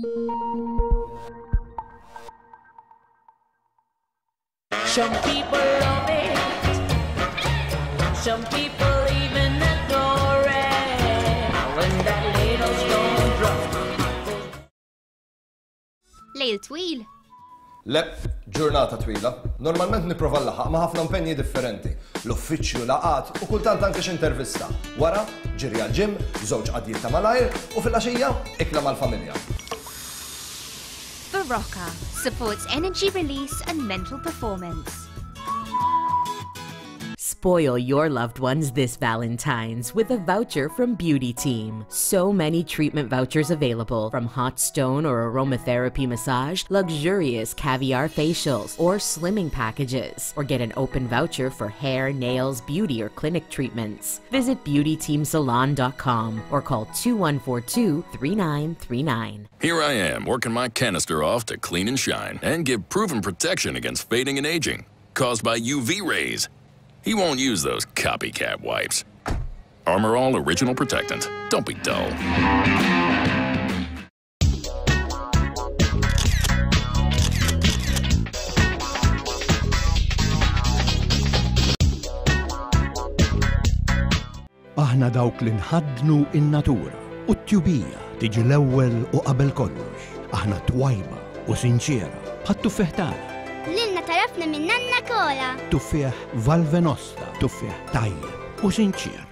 Some people love it, some people even adore it. When that little stone drop. Lejl twil. Le, ġurnata twila. Normalment nipprova nlaħħaq ma' ħafna impenji differenti. L-uffiċċju, laqgħat u kultant anke xi intervista. Wara, ġiri għall-gym, żewġ qadjiet ta' malajr u fil-għaxija, ikla mal-familja. Berocca supports energy release and mental performance. Spoil your loved ones this Valentine's with a voucher from Beauty Team. So many treatment vouchers available from hot stone or aromatherapy massage, luxurious caviar facials, or slimming packages. Or get an open voucher for hair, nails, beauty, or clinic treatments. Visit beautyteamsalon.com or call 2142 3939. Here I am, working my canister off to clean and shine and give proven protection against fading and aging caused by UV rays. He won't use those copycat wipes. Armor All Original Protectant. Don't be dull. Aħna dawk li nħaddnu in-natura u t-tjubija tiġi l-ewwel u qabel kollox. Aħna twajba u sinċiera bħat-tuffieħ tagħna. Lilna tarafna minn nanna Kola. Tuffieħ Valvenosta, tuffieħ tajjeb u sinċier.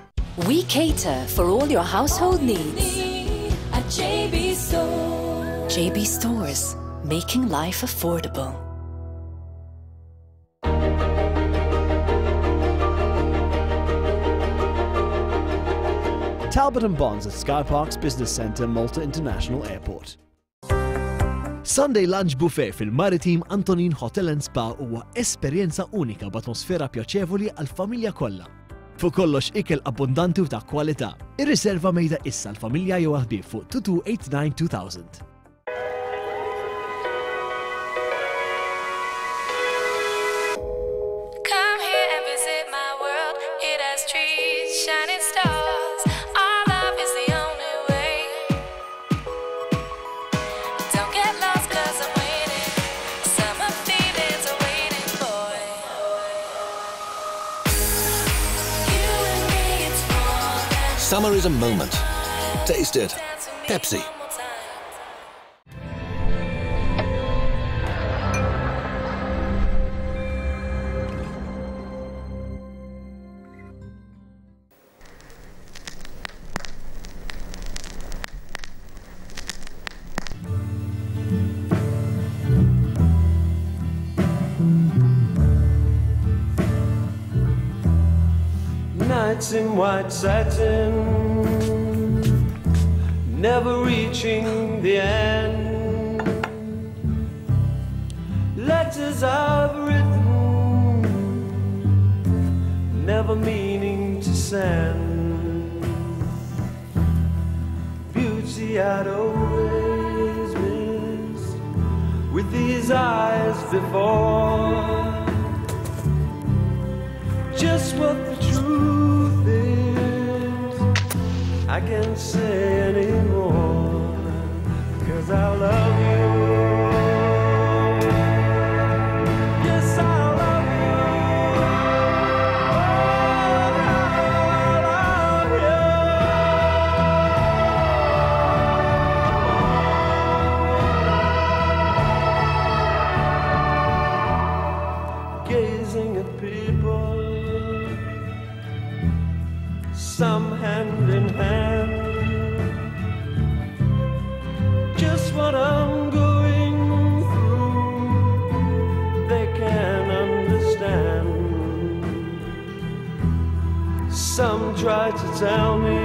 We cater for all your household needs. At JB Store. JB Stores, making life affordable. Talbot and Bonds at Skyparks Business Centre, Malta International Airport. Sunday Lunch Buffet fil-Maritim Antonin Hotel and Spa huwa esperjenza unika b'atmosfera pjaċevoli għall-familja kollha. Fuq kollox ikel abbundanti u ta' kwalità. Irriserva mejda issa l-familja jew ħbieb fuq 2289 2000. Come here and visit my world. It has trees, shining stars. Our love is the only way. Don't get lost, cause I'm waiting. Summer feelings are waiting, boy. You and me, it's more than Summer is a moment. Taste it. dance with me Pepsi. one more time. Nights in white satin, never reaching the end. Letters I've written, never meaning to send. Beauty I'd always missed with these eyes before just what the truth is. I can't say anymore, cause I love you. Yes, I love you. Oh, I love you. Gazing at people some hand in hand. Just what I'm going through, they can understand. Some try to tell me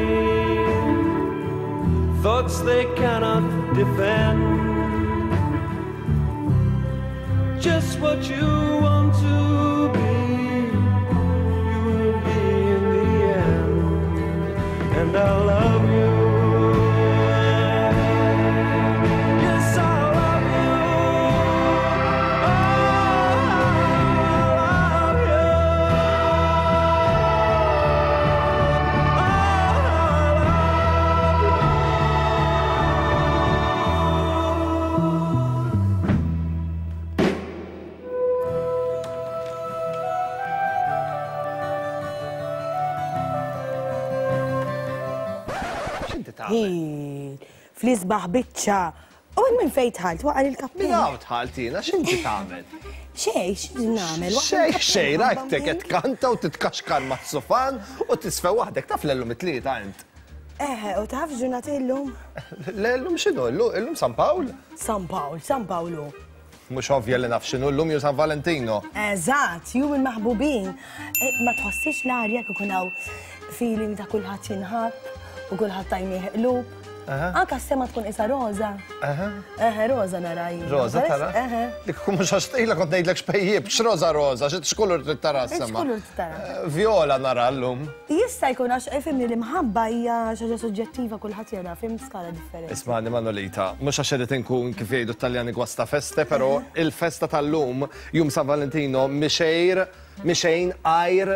thoughts they cannot defend. Just what you want to be, you will be in the end. And I love you. Yes, I love you. Oh, I love you. Oh, I love you. tagħmel? Fl-isbaħ biċċa. U minn fejn dħalt waqal il-kappell. Minn hawn dħalt jiena, x'inti tagħmel? Xejn, x'inti nagħmel? Xejn, xejn, rajtek qed tkanta u titkaxkar mas-sufan u tisfew waħdek taf l-llum it-tlieta int. Eħe, u taf ġurnata illum? Le llum x'inhu llum? Illum San Pawl? San Pawl, San Pawlu. Mhux ovvja li naf x'inhu llum jew San Valentino. Eżatt, jum il-maħbubin. E, ma tħossix l-arja kif ikun hawn feeling ta' kulħadd jinħabb u kulħadd tajnieh qlub. Anka s-sema tkun isa roża. Eħe, roża nara jien. Roża tara? Eħe. Dik mhux għax tqila kont ngħidlek xpejjib, x'roża roża, x'kulur trid tara s-sema. X'kulur trid tara? Eh, vjola nara llum. Jista' jkun għax ifhimni l-imħabba hija xi ħaġa suġġettiva kulħadd jara fim skala differenti. Ismagħni Manolita, mhux għax irid inkun kif jgħidu t-Taljani guasta feste, però il-festa tal-lum, Jum San Valentino, mhi xejr, mhi xejn għajr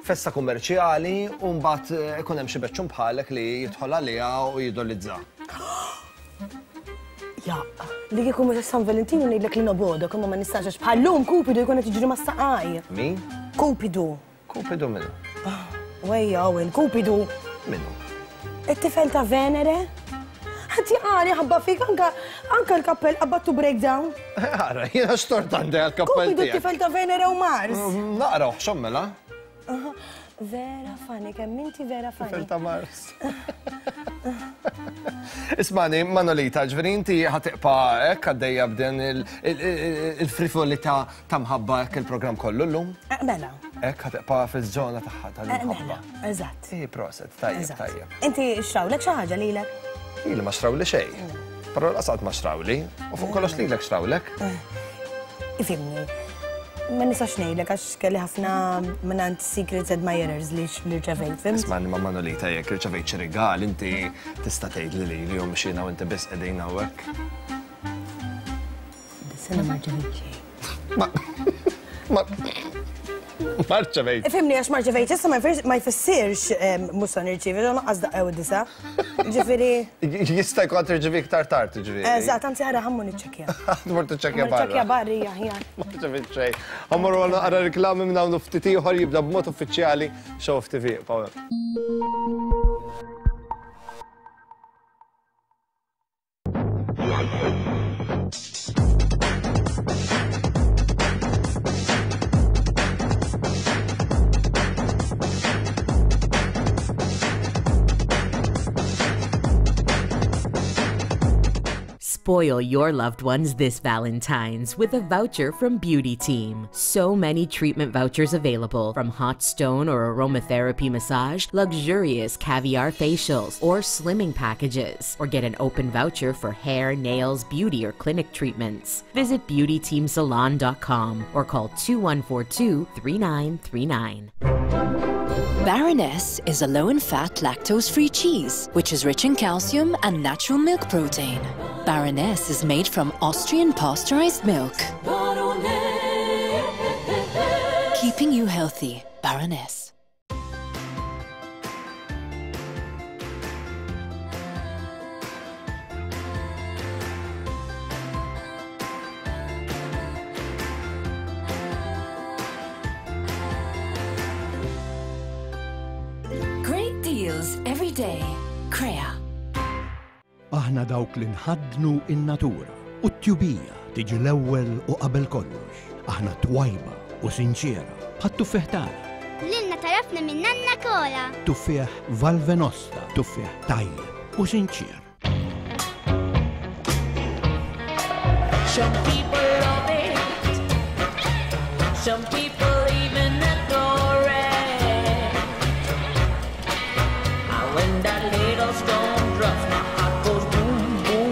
festa kummerċjali u mbagħad ikun hemm xi beċċun bħalek li jidħol għaliha u jidolizza. Jaqq, li kieku mhux San Valentino ngħidlek li nobogħdok imma ma nistax għax bħal-lum Kupidu jkun qed jiġri mas-saqaj. Min? Kupidu. Kupidu minnu? Wejja, Owen, Kupidu. Minnu? It-tifel ta' Venere? Ħadd jaqali ħabba fik anka anka l-kappell qabadtu breakdown. Ara, jiena x'tort għandi għall-kappell Kupidu t-tifel ta' Venere u Mars. Mm, naqra uħxom mela. Vera funny, kemm inti vera funny. Tifel ta' Mars. Ismani, Manolita, ġveri inti ħatiqpa hekk għaddejja b'din il-frivolità ta' mħabba hekk il-programm kollu llum? Eh, mela. Hekk ħatiqpa fiż-żona tagħha eh, tal-mħabba. Mela, eżatt. Ej, proset, tajjeb, tajjeb. Inti xrawlek xi ħaġa lilek? Ili ma xrawli xejn. Mm. Però l-qasad ma xrawli, u fuq kollox lilek xrawlek. Eh, ifimni. Ma nistax ngħidlek għax kelli ħafna mingħand secrets admirers li rċevejt, fim? Isma' ma Manolita jekk rċevejt xi rigal inti tista' tgħid li lili u mhux jiena u inti biss qegħdin hawnhekk. Dis-sena ma rċevejt xejn. Ma ma ma rċevejt. Ifhimni għax ma rċevejt issa ma jfissirx mhux se nirċievi, ġo naqqas daqqew id-disa. Ġifieri. Jista' jkun tirċievi iktar tard, ġifieri. Eżatt, anzi ħara ħammu niċċekkja. Tmur tiċċekkja barra. Niċċekkja barri aħjar. Ma rċevejt xejn. Ħammorru għal naqra riklami minn hawn ftit ieħor jibda b'mod uffiċjali Show of TV. Paweł. Spoil your loved ones this Valentine's with a voucher from Beauty Team. So many treatment vouchers available from hot stone or aromatherapy massage, luxurious caviar facials, or slimming packages. Or get an open voucher for hair, nails, beauty, or clinic treatments. Visit beautyteamsalon.com or call 2142 3939. Baroness is a low in fat, lactose free cheese, which is rich in calcium and natural milk protein. Baroness is made from Austrian pasteurized milk. Keeping you healthy, Baroness. Great deals every day. Crea. Aħna dawk li nħaddnu in-natura u t-tjubija tiġi l-ewwel u qabel kollox. Aħna twajba u sinċiera bħat-tuffieħ tagħna. Lilna tarafna minn nanna kola. Tuffieħ Valvenosta, tuffieħ tajjeb u sinċier. Some people love it, some people even adore it. And when that little stone drops, my heart goes boom, boom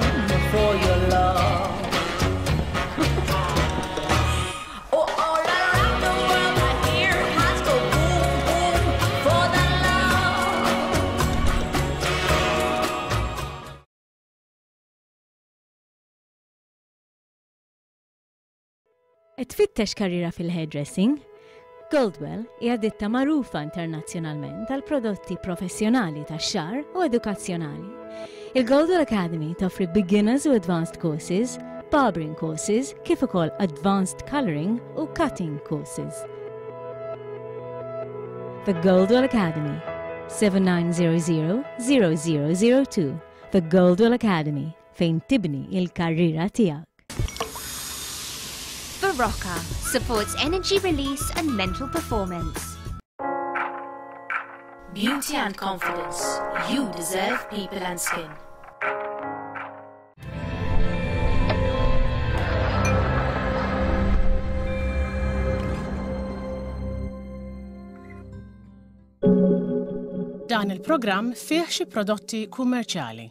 for your love. oh, all around the world I hear hearts go boom, boom for the love. Qed tfittex karriera fil-hairdressing? Goldwell hija ditta magħrufa internazzjonalment għal prodotti professjonali tax-xagħar u edukazzjonali. Il-Goldwell Academy toffri beginners u advanced courses, barbering courses, kif ukoll advanced coloring u cutting courses. The Goldwell Academy. 7900 0002 The Goldwell Academy fejn tibni il-karriera tiegħek. Barocca supports energy release and mental performance. Beauty and confidence. You deserve people and skin. Dan il-programm fih xi prodotti kummerċjali.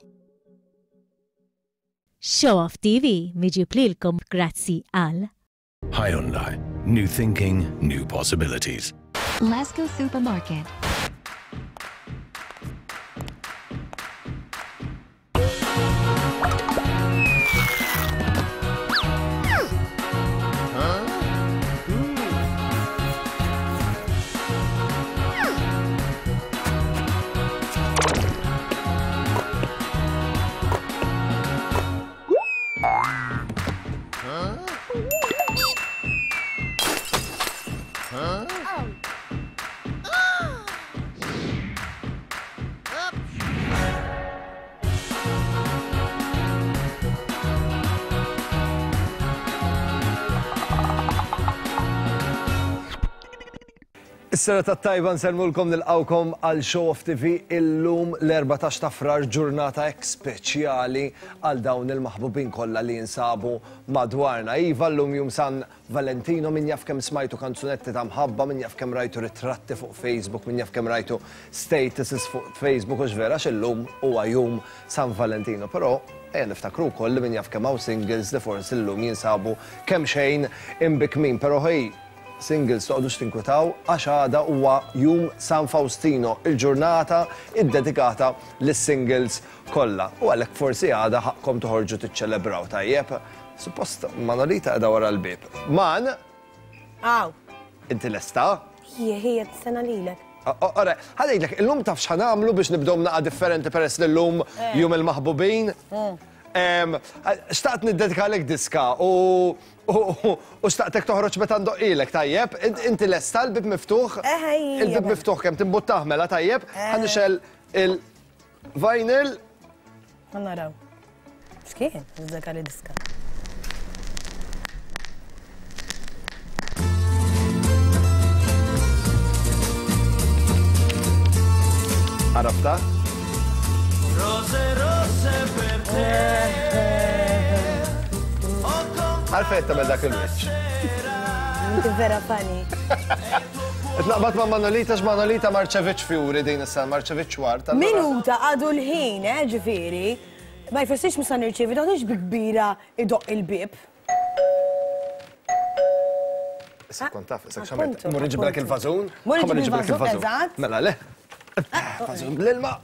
Show Off TV miġib lilkom grazzi għal. Hyundai. New thinking, new possibilities. Lasco Supermarket. Is-serata t-tajba nsellmulkom nilqgħukom għal Show Off TV illum l-14 ta' Frar ġurnata hekk speċjali għal dawn il-maħbubin kollha li jinsabu madwarna. Iva llum jum San Valentino min jaf kemm smajtu kanzunetti ta' mħabba, min jaf kemm rajtu ritratti fuq Facebook, min jaf kemm rajtu statuses fuq Facebook hux vera għax illum huwa jum San Valentino. Però ejja niftakru wkoll li min jaf kemm hawn singles li forsi llum jinsabu kemxejn imbikkmin. Però ħej singles toqgħodux tinkwetaw għax għada huwa jum San Faustino, il-ġurnata iddedikata lis-singles kollha. U għalhekk forsi għada ħaqqkom toħorġu tiċċelebraw tajjeb. Suppost Manolita qiegħda wara l-bieb. Man! Aw. Inti lesta? Ħija, ħija, tistenna lilek. Ora, ħa ngħidlek, illum taf x'ħa nagħmlu biex nibdew naqa' differenti peress li llum eh. jum il-maħbubin. Eh. Xtaqt niddedikalek diska u u xtaqtek toħroġ meta ndoqqilek, tajjeb? Inti lesta l-bib miftuħ? Eh, il-bib miftuħ kemm timbuttah mela tajjeb? Ħa nixel il-vinyl. Naraw. X'kien? Dak li diska. Għarafta? Rose, rose per te. Għalfejn tagħmel dak il-wiċċ? Inti vera funny. Naqbad ma' Manolita x'Manolita marċeviċ fjuri din is-sena, marċeviċ ward. Minuta għadu l-ħin, eh, ġifieri. Ma jfissirx mhux sa nirċievi, toħodx bi kbira idoqq il-bieb. Issa kont taf, issa x'għamilt. Mur iġiblek il-vażun. Mur iġiblek il-vażun, eżatt. Mela le. Vażun bl-ilma.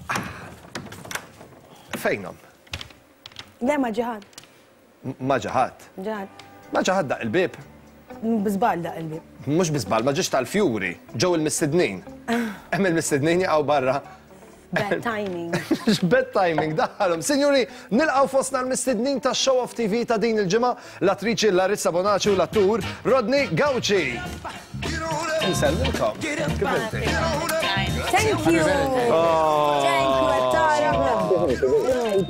Fejnhom? Le ma ġiħad. Ma ġa ħadd. Ġa ħadd. Ma ġa ħadd daqq il-bieb. Bi żball daqq il-bieb. Mhux bi żball, ma ġiex tal-fjuri. Ġew il-mistednin. Hemm il-mistednin jaqgħu barra. Bad timing. Bad timing, daħħalhom. Sinjuri, nilqgħu fostna l-mistednin ta' Show Off TV ta' din il-ġimgħa, l-attriċi Larissa Bonaci u l-attur Rodney Gauci. Insellmilkom. Kif inti? Thank you. Oh. Thank you, Tara.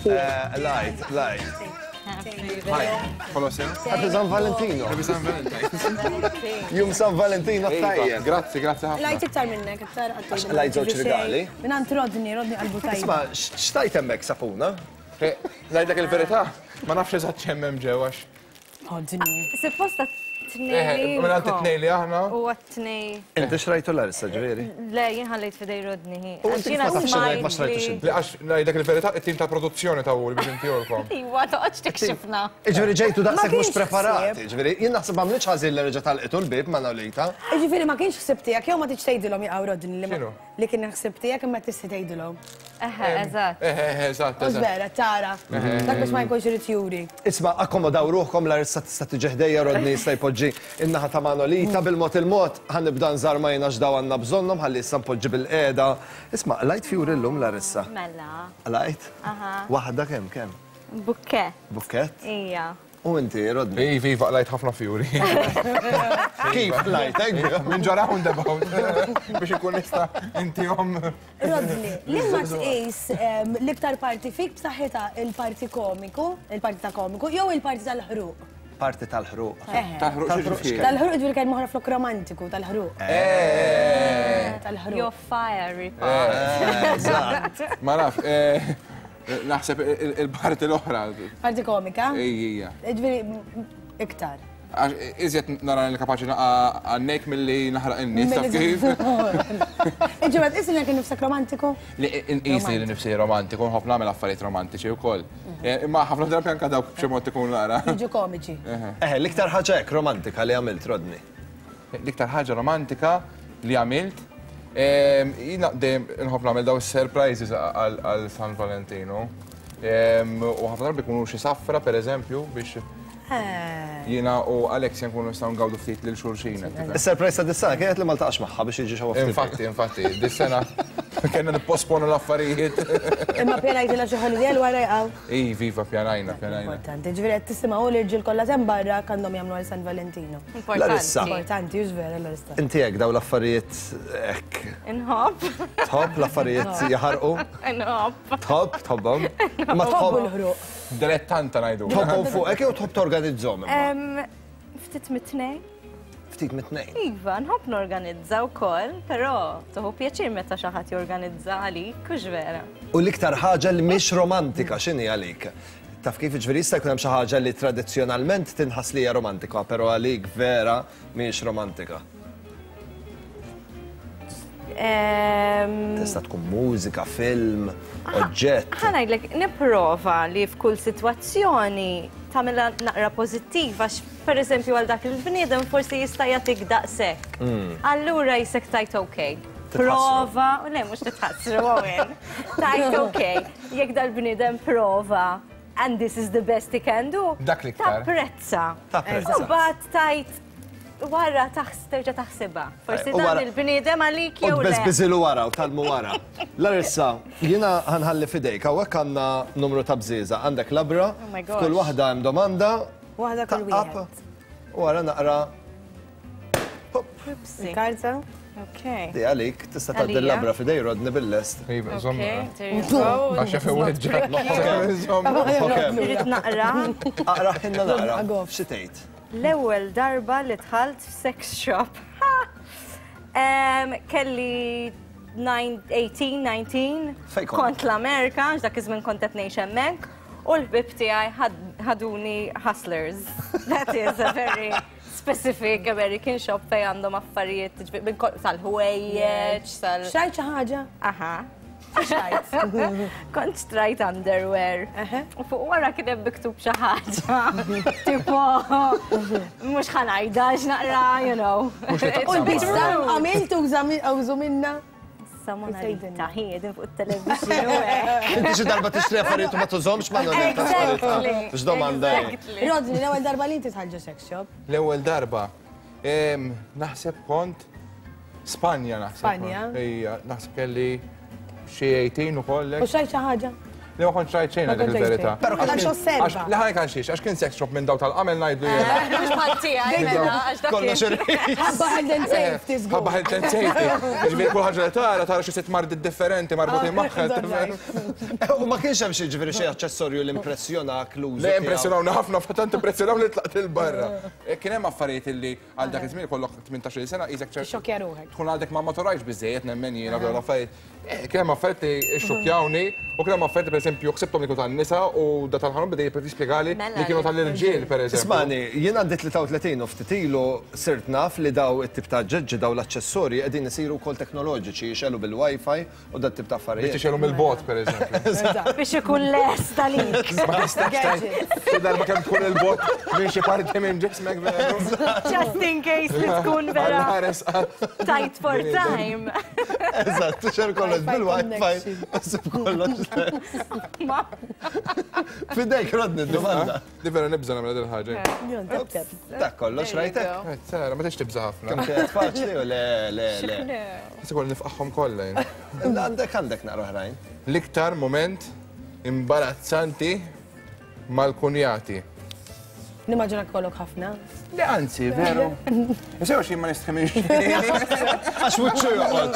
Eh, light, light. Hi, Kolosja. Happy San Valentino. Happy San Valentino. Jum San Valentino tajjeb. Grazzi, grazzi ħafna. Lajt iktar minnek, iktar għattu. Lajt żewġ rigali. Minn għand Rodney, Rodney qalbu tajba. Isma, xtajt hemmhekk sapuna? Eh, ngħidlek il-verità, ma nafx eżatt x'hemm hemm ġew għax. Rodney. Supposta tnej. Minn għand it-tnej li aħna. U għat-tnej. Inti xrajtu l-arsa ġifieri? Le, jien ħallejt fidej Rodney. U inti ma tafx ma xrajtux inti. Le, għax ngħidlek il-verità, it-tim ta' produzzjoni ta' hu biex intihulkom. Iwa, toqgħodx tikxifna. Ġifieri ġejtu daqshekk mhux preparati, ġifieri jien naħseb m'għamlitx ħażin li reġa' talqitu l-bieb ma' Nolita. Ġifieri ma kienx ħsieb tiegħek jew ma tridx tgħidilhom jaqgħu Rodney li Li kien ħsieb tiegħek imma tista' tgħidilhom. Eħe, eżatt. Eħe, eħe, eżatt, eżatt. Vera, tara. Dak biex ma jkunx irid juri. Isma' akkomodaw ruħkom Larissa tista' tiġi ħdejja Rodney jista' jpoġġi in-naħa ta' Manolita bil-mod il-mod ħa nibda nżarma jien għax dawn għandna bżonnhom ħalli issa npoġġi bilqiegħda. Isma' qlajt fjuri llum Larissa? Mela. Qlajt? Aha. Waħda kemm kemm? Bukkett. Bukkett? Ija. U inti, Rodney? Iva, iva, qlajt ħafna fjuri. Kif qlajt, hekk? Minn ġo roundabout. Biex ikun nista' intihom. Rodney, li ma tqis l-iktar parti fik b'saħħitha il-parti komiku, il-parti ta' komiku, jew il-parti tal-ħruq? Parti tal-ħruq. Tal-ħruq x'jiġifieri? Tal-ħruq ġifieri kelma oħra flok romantiku, tal-ħruq. Tal-ħruq. Your fiery part. Eżatt. Ma naf, naħseb il-parti l-oħra. Parti komika? Ejja. Ġifieri iktar. Iżjed nara li kapaċi naqa' għannek milli naħraq in-nies taf kif. Ġifieri ma tqis lilek innifsek romantiku? Li inqis li nifsi romantiku, nħobb nagħmel affarijiet romantiċi wkoll. Imma ħafna drabi anke dawk b'xi mod ikunu naqra. Jiġu komiċi. Eħe, l-iktar ħaġa hekk romantika li għamilt, Rodney? L-iktar ħaġa romantika li għamilt, jiena dejjem inħobb nagħmel daw is-surprises għal San Valentino. U ħafna drabi jkunu xi safra pereżempju biex jiena u Alexia nkunu nistgħu ngawdu ftit lil xulxin. Is-surprise ta' dis-sena kienet li ma ltaqax magħha biex jiġi xi Infatti, infatti, dis-sena kellna nipposponu l-affarijiet. Imma pjanajtilha xi holiday għal wara jaqgħu? Iva, iva, pjanajna, pjanajna. Importanti, ġifieri qed tisimgħu l-irġiel kollha t'hemm barra għandhom jagħmlu għal San Valentino. Larissa. Importanti, hux vera Larissa? Inti hekk dawn l-affarijiet hekk. Inħobb. Tħobb l-affarijiet jaħarqu? Inħobb. Tħobb, tħobbhom? Ma tħobb il-ħruq. Dilettanta ngħidu. Tħobbhom fuqek jew tħobb torganizzhom imma? Ftit mit-tnejn. Ftit mit-tnejn. Iva, nħobb norganizza wkoll, però tieħu pjaċir meta xi ħadd jorganizza għalik, hux vera? U l-iktar ħaġa li mhix romantika x'inhi għalik? Taf kif, jiġifieri jista' jkun hemm xi ħaġa li tradizzjonalment tinħass li hija romantika, però għalik vera mhijiex romantika. Tista' tkun mużika, film, oġġett. Ħa ngħidlek, nipprova li f'kull sitwazzjoni tagħmilha naqra pożittiva għax pereżempju għal dak il-bniedem forsi jista' jagħtik daqshekk. Allura jisek tajt ok. Prova, le mhux titħassru Owen. Tajt ok, jekk dal-bniedem prova and this is the best he can do. Dak l-iktar. Tapprezza. Tapprezza. U mbagħad tajt wara terġa' taħsibha. Forsi dan il-bniedem għalik jew le. U tbeżbiżilu wara u tgħallmu wara. Larissa, jiena ħa nħalli f'idejk, hawnhekk għandna numru ta' bżieżaq, għandek labra, f'kull waħda hemm domanda. Waħda kull wieħed. U wara naqra. Karta. Ok. Di għalik, tista' tgħaddi l-labra f'idej Rodney bil-lest. Iva, żomm. Għax jaf iweġġa'. Irrid naqra. Aqra ħinna naqra. Xi tgħid? L-ewwel darba li dħalt f'sex shop. Kelli 18, 19. Fejn kont? Kont l-Amerika, għax dak iż-żmien kont qed ngħix hemmhekk, u l-ħbieb tiegħi ħaduni Hustlers. That is a very specific American shop fejn għandhom affarijiet sal-ħwejjeġ, sal. Xtrajt xi ħaġa? Aha. Xtrajt. Kont xtrajt underwear. U fuq wara kien hemm miktub xi ħaġa. Tipo, mhux ħa ngħidha għax naqra, you know. U l-bista għamilt użu minna? Issa Mona Lita, hi qegħdin fuq it-television u hekk. Inti xi darba tixtri affarijiet u ma tużhomx ma Exactly. X'domanda hi? Rodney, l-ewwel darba li inti dħalt ġo sex shop? L-ewwel darba. Naħseb kont Spanja naħseb. Spanja? Ejja, naħseb kelli xi 18 ukoll. U xtrajt xi ħaġa? Le ma kontx rajt xejn għal il-verità. Però kien għax osserva. Le ħa ngħid għax kien sex shop minn daw tal-qamel ngħidlu jiena. Mhux bħal tiegħi mela għax dak. Kollox irħis. Ħabba health and safety żgur. Ħabba health and safety. Jiġifieri kull ħaġa li tara tara xi sitt mardiet differenti marbutin magħha. U ma kienx hemm xi ġifieri xi aċċessorju li impressjonak l-użu. Le impressjonawni ħafna, tant impressjonawni li tlaqt 'il barra. Kien hemm affarijiet illi għal dak iż-żmien ikollok 18-il sena qisek ċert. Tixxokkja ruħek. Tkun għadek ma maturajtx biżżejjed nemmen jiena f'dawn l-affarijiet. Kien hemm affarijiet li xxukkjawni u kien hemm affarijiet li pereżempju ħsibthom li kienu tan-nisa u da tal-ħanut beda jispjegali li kienu tal-irġiel pereżempju. Ismagħni, jien għandi 33 u ftit ilu sirt naf li daw it-tip ta' aġġeġġi, daw l-aċċessorji qegħdin isiru wkoll teknoloġiċi, jixegħlu bil-Wi-Fi u dat-tip ta' affarijiet. Biex tixegħlu mill-bogħod pereżempju. Biex ikun lest għalik. Ma tistax tgħid xi darba kemm tkun il-bogħod minn xi parti minn ġismek veru. Just in case li tkun vera. Tight for time. Eżatt, tixer kollox bil-wifi, sib kollox. Fidejk, Rodney, domanda. Di vera nibża nagħmel din ħaġa. Dak kollox, rajtek? Sara, ma tix tibża ħafna. Kemm kienet faċli u le, le, le. Issa kollu nifqaħħom kollha. Għandek għandek naqra oħrajn. L-iktar moment imbarazzanti mal-kunjati. Nimmaġina kollok ħafna. Le anzi, veru. Sew xi ma nistħimix. Għax wiċċu joqgħod.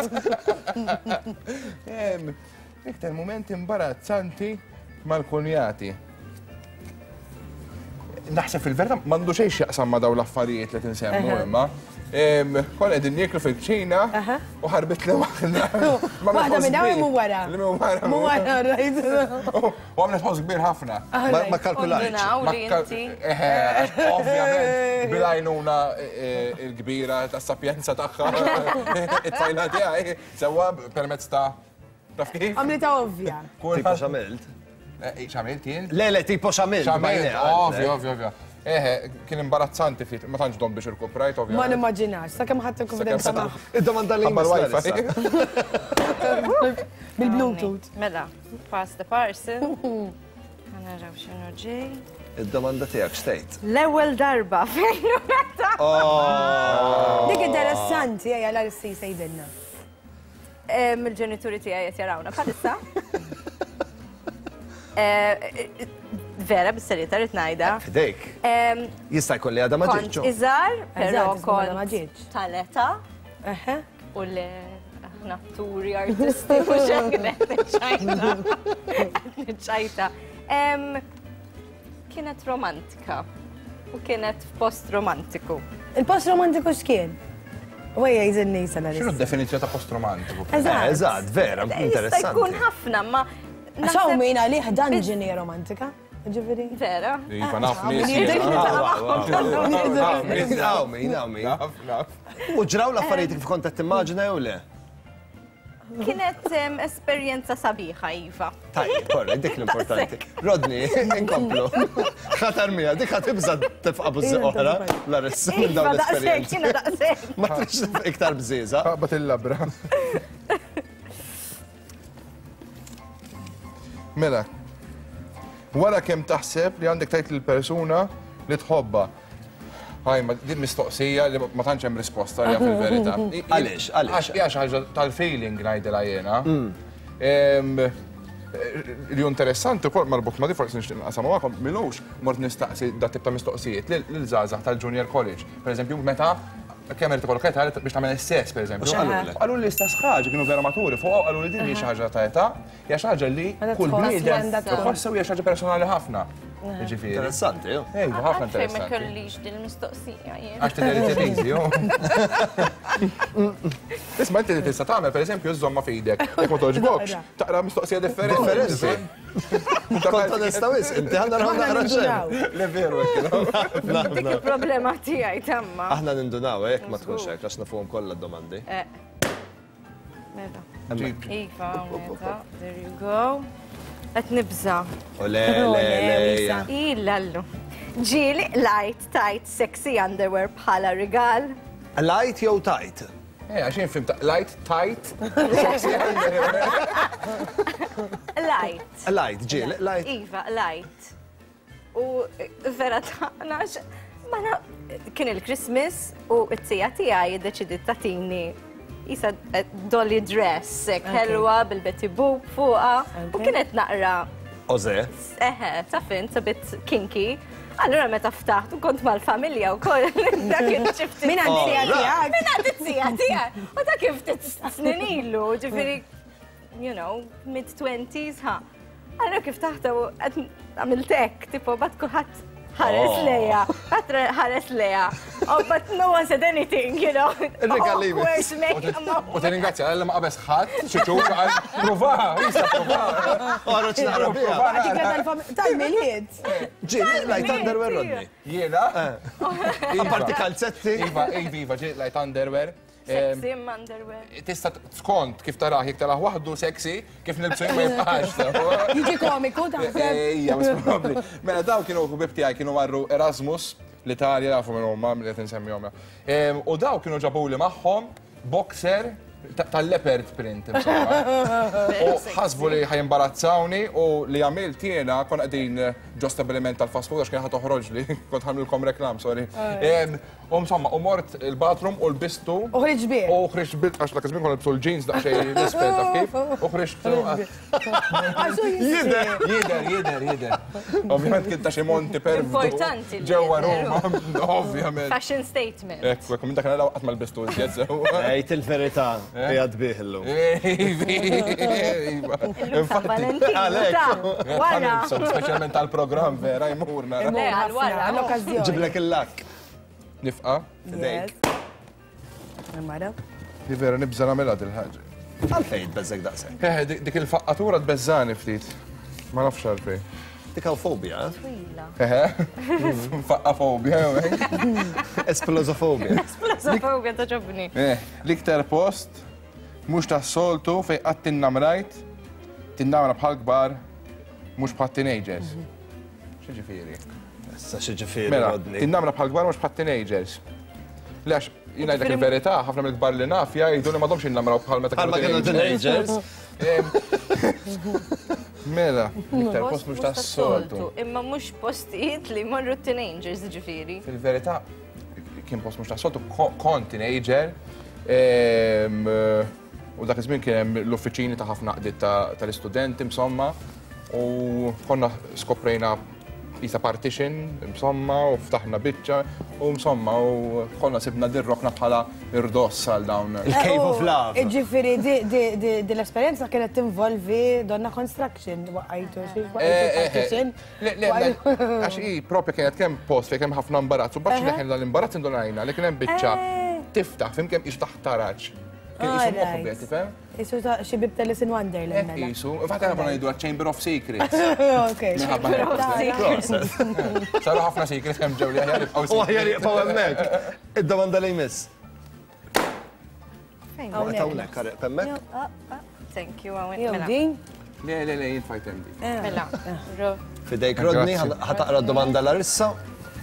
Iktar moment imbarazzanti mal-kunjati. Naħseb fil-verità m'għandu xejn x'jaqsam ma' dawn l-affarijiet li tinsemmu imma. Konna qegħdin nieklu fil-kċina u ħarbit li waħda. Waħda minn hawn u wara. Li minn wara. Minn wara, right. U għamlet ħoss kbir ħafna. Ma kalkulajtx. Ovvjament, bil-għajnuna il-kbira ta' sapjenza tagħha, it-tfajla tiegħi, sewwa permezz ta' taf kif? Għamlita ovvja. Tipo x'għamilt? X'għamilt jien? Le, le, tipo x'għamilt. X'għamilt, ovvja, ovvja, ovvja. Eħe, kien imbarazzanti ftit, ma tantx dom biex irkuprajt, ovvja. Ma nimmaġinax, sakemm ħadd il-konfidenza magħha. Id-domanda li jmiss. Bil-Bluetooth. Mela, pass the parcel. Naraw x'inhu ġej. Id-domanda tiegħek x'tgħid? L-ewwel darba fejn u meta. Oh. Dik interessanti, ejja l-arsi sejdilna. Il-ġenituri tiegħi qed jarawna bħalissa. Vera, bis-serjetà rrid ngħidha. Fidejk. Jista' jkun li għadha ma ġietx. Kont iżgħar, però kont tal-età. U le aħna atturi, artisti, mhux hekk niċċajta. Niċċajta. Kienet romantika u kienet f'post romantiku. Il-post romantiku x'kien? U ejja jżinni sena. X'inhu d-definizzjoni ta' post romantiku? Eżatt. Eżatt, vera, interessanti. Jista' jkun ħafna, ma. Għax hawn min għalih dungeon hija romantika. Ġifieri. Vera. Iva, naf nies. Hawn min, hawn min. U ġraw l-affarijiet kif kont qed timmaġina jew le? Kienet esperjenza sabiħa, Iva. Tajjeb, korrekt, dik l-importanti. Rodney, inkomplu. Ħatar mija, dik ħatibża tifqa' bużi oħra, Larissa, minn dawn Iva, daqshekk, l-esperjenzi. jiena daqshekk. Ma trix tifqa' iktar bżieża. Taqbad il-labra. Mela, wara kemm taħseb li għandek tgħid lill-persuna li tħobbha. Ħaj, ma din mistoqsija li ma tantx hemm risposta għaliha fil-verità. Għaliex, għaliex? Għax hija xi ħaġa tal-feeling ngħidilha jiena. Li hu interessanti wkoll marbut ma' di forsi nixtieq naqsam magħkom, m'ilux mort nistaqsi dat tip ta' mistoqsijiet lil żgħażagħ tal-junior college. Pereżempju, meta kemm irid ikollok età biex tagħmel is-sess, pereżempju. U x'qalulek? Qaluli l-istess ħaġa, kienu vera maturi fuqha u qaluli din mhijiex xi ħaġa ta' età, Hija xi ħaġa li kull bniedem iħossha u hija xi ħaġa personali ħafna. Jiġifieri. Interessanti, jo. Ejja, ħafna interessanti. Ma kellix din il-mistoqsija jien. Għax tidher li tiżi, jo. Isma' inti li tista' tagħmel pereżempju żżommha f'idek. Jekk ma togħġbokx, taqra mistoqsija differenti. Kont onesta wisq, inti ħa naraw naqra xejn. Le veru hekk. Dik il-problema tiegħi tamma. Aħna nindunaw eh, jekk ma tkunx hekk għax nafuhom kollha d-domandi. Eh. Mela. Iva, mela, there you go. Qed nibża. Ole, le, le. Ilallu. Ġieli light tight sexy underwear bħala rigal. Light jew tight? Eh, għax jien fim light tight sexy underwear. Light. Light, ġieli, light. Iva, light. U vera taqna ma kien il-Christmas u t-tija tiegħi iddeċidiet tagħtini jisa eh, dolly dress, ħelwa bil-Betty Boop fuqha u kienet naqra. Oze. Eħe, taf int, a bit kinky. Allura meta ftaħt u kont mal-familja u koll, dak kien xi ftit. Min għandi tija tiegħek? Min għandi tija tiegħek. U dak kien ftit snin ilu, ġifieri you know, mid-twenties, ha. Allura kif taħta u għamilt hekk, tipo, bat kulħadd ħares oh. leja, ħadd ħares leja. Oh, but no one said anything, you know. Regali. U tirringrazzja għalla ma qabeż ħadd, xi ċur għal prova, jista' prova. Oroġ naqra biha. Tal-milied. Ġieli, light underwear Rodney. Jiena? Eh. Apparti kalzetti. Iva, iva, iva, ġieli light underwear. Sexy imma underwear. Tista' skont kif tarah, jekk tarah waħdu sexy, kif nilbsu ma jibqax. Jiġi komiku taħseb. Ejja, mhux probabbli. Mela dawn kienu ħbieb tiegħi kienu marru Erasmus l-Italja jafu minn huma milli qed insemmihom. U daw kienu ġabuli magħhom boxer Tal-leopard print, insomma. U ħasbu li ħa jimbarazzawni u li għamilt jiena konna qegħdin ġo stabiliment tal-fast food għax kien ħa toħroġli, kont ħa nagħmlilkom reklam, sorry. U insomma, u mort il-bathroom u lbistu. U ħriġt bih. U ħriġt bil, għax dak iż-żmien konna nilbsu l-jeans daqsxejn l-isfel taf kif. U ħriġt. Jidher. Jidher, jidher, jidher. Ovvjament kien ta' xi monti perfdu. Importanti. Ġewwa Ruma, ovvjament. Fashion statement. Ekku, ekku, minn dak naraw qatt ma lbistu iżjed sew. Għid il-verità, qiegħed bih illum. Iva. Infatti. Għalhekk. Wara. Speċjalment tal-programm vera jmur nara. Le, għal wara. L-okkażjoni. Ġiblek il-lakk. Nifqa. Fidejk. Mara. Di vera nibża nagħmilha dil-ħaġa. Għalfejn tbeżżek daqshekk? Eh, dik il-faqqatura tbeżżani ftit. Ma nafx għalfejn. Dik hawn fobja, eh? Twila. Eħe. Faqqa fobja, jew hekk. Esplosofobja. Esplosofobja toġobni. Eh, l-iktar post mhux tas-soltu fejn qatt tinnamrajt, tinnamra bħal kbar, mhux bħal teenagers. X'jiġifieri? Issa x'jiġifieri Mela, Rodney? tinnamra bħal kbar mhux bħal teenagers. Le għax jien ngħidlek il-verità, ħafna mill-kbar li naf jgħidu li m'għadhomx jinnamraw bħal meta Bħal ma kienu teenagers. Mela, iktar post mhux tas-soltu. Imma mhux postijiet li jmorru teenagers ġifieri. Fil-verità, kien post mhux tas-soltu, kont teenager. U dak iż-żmien kien hemm l-uffiċini ta' ħafna għaqdiet tal-istudenti insomma u konna skoprejna qisha partition insomma u ftaħna biċċa u insomma u konna sibna dir-rokna bħala irdoss għal dawn. Il-Cave of Love. Jiġifieri di l-esperjenza kienet tinvolvi donna construction waqqajtu xi waqqajtu partition. Le, le, għax hi propja kienet kemm post fejn kemm ħafna imbarazz u mbagħad xi leħen l-imbarazz indunajna li kien hemm biċċa tiftaħ fim kemm qisu taħt taraġ. Kien qisu moħbi, tifhem? Qisu ta' xi bib ta' Alice in Wonderland. Mela. Qisu, infatti aħna konna ngħidu Chamber of Secrets. Ok. Chamber of Secrets. Saru ħafna secrets hemm ġew li aħjar jibqgħu. U aħjar jibqgħu hemmhekk. Id-domanda li jmiss. Fejn? Hawnhekk, għarriq hemmhekk. Ah, ah, thank you, hawnhekk. Jew Mela. din? Le, le, le, jien fajt hemm dik. Mela. Fidejk Rodney, ħa taqra d-domanda Larissa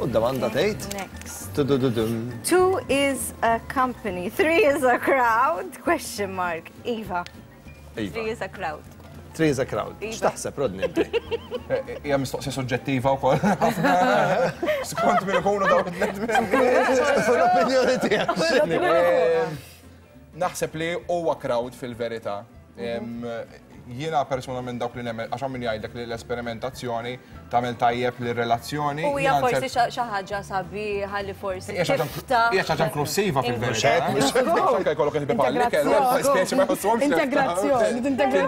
u d-domanda tgħid. Next. Tudududum. Two is a company, three is a crowd, question mark. Iva. Iva. Three is a crowd. Three is a crowd. Iva. X'taħseb Rodney inti? Hija mistoqsija soġġettiva wkoll. ħafna. Skont min ikunu dawk it-tliet membri. L-opinjoni tiegħek. x'inhi? Naħseb li huwa crowd fil-verità. Jiena persuna minn dawk li nemmen, għax hawn min jgħidlek li l-esperimentazzjoni tagħmel tajjeb lir-relazzjoni. U hija forsi xi ħaġa sabiħa li forsi Hija xi ħaġa- tiftaħ. hija xi ħaġa inklusiva fil-verità. Mhux hekk, mhux hekk. Anke jkollok il-ħbieb għall-ikel, speċi ma jħossuhomx left out. Integrazzjoni, tintegra.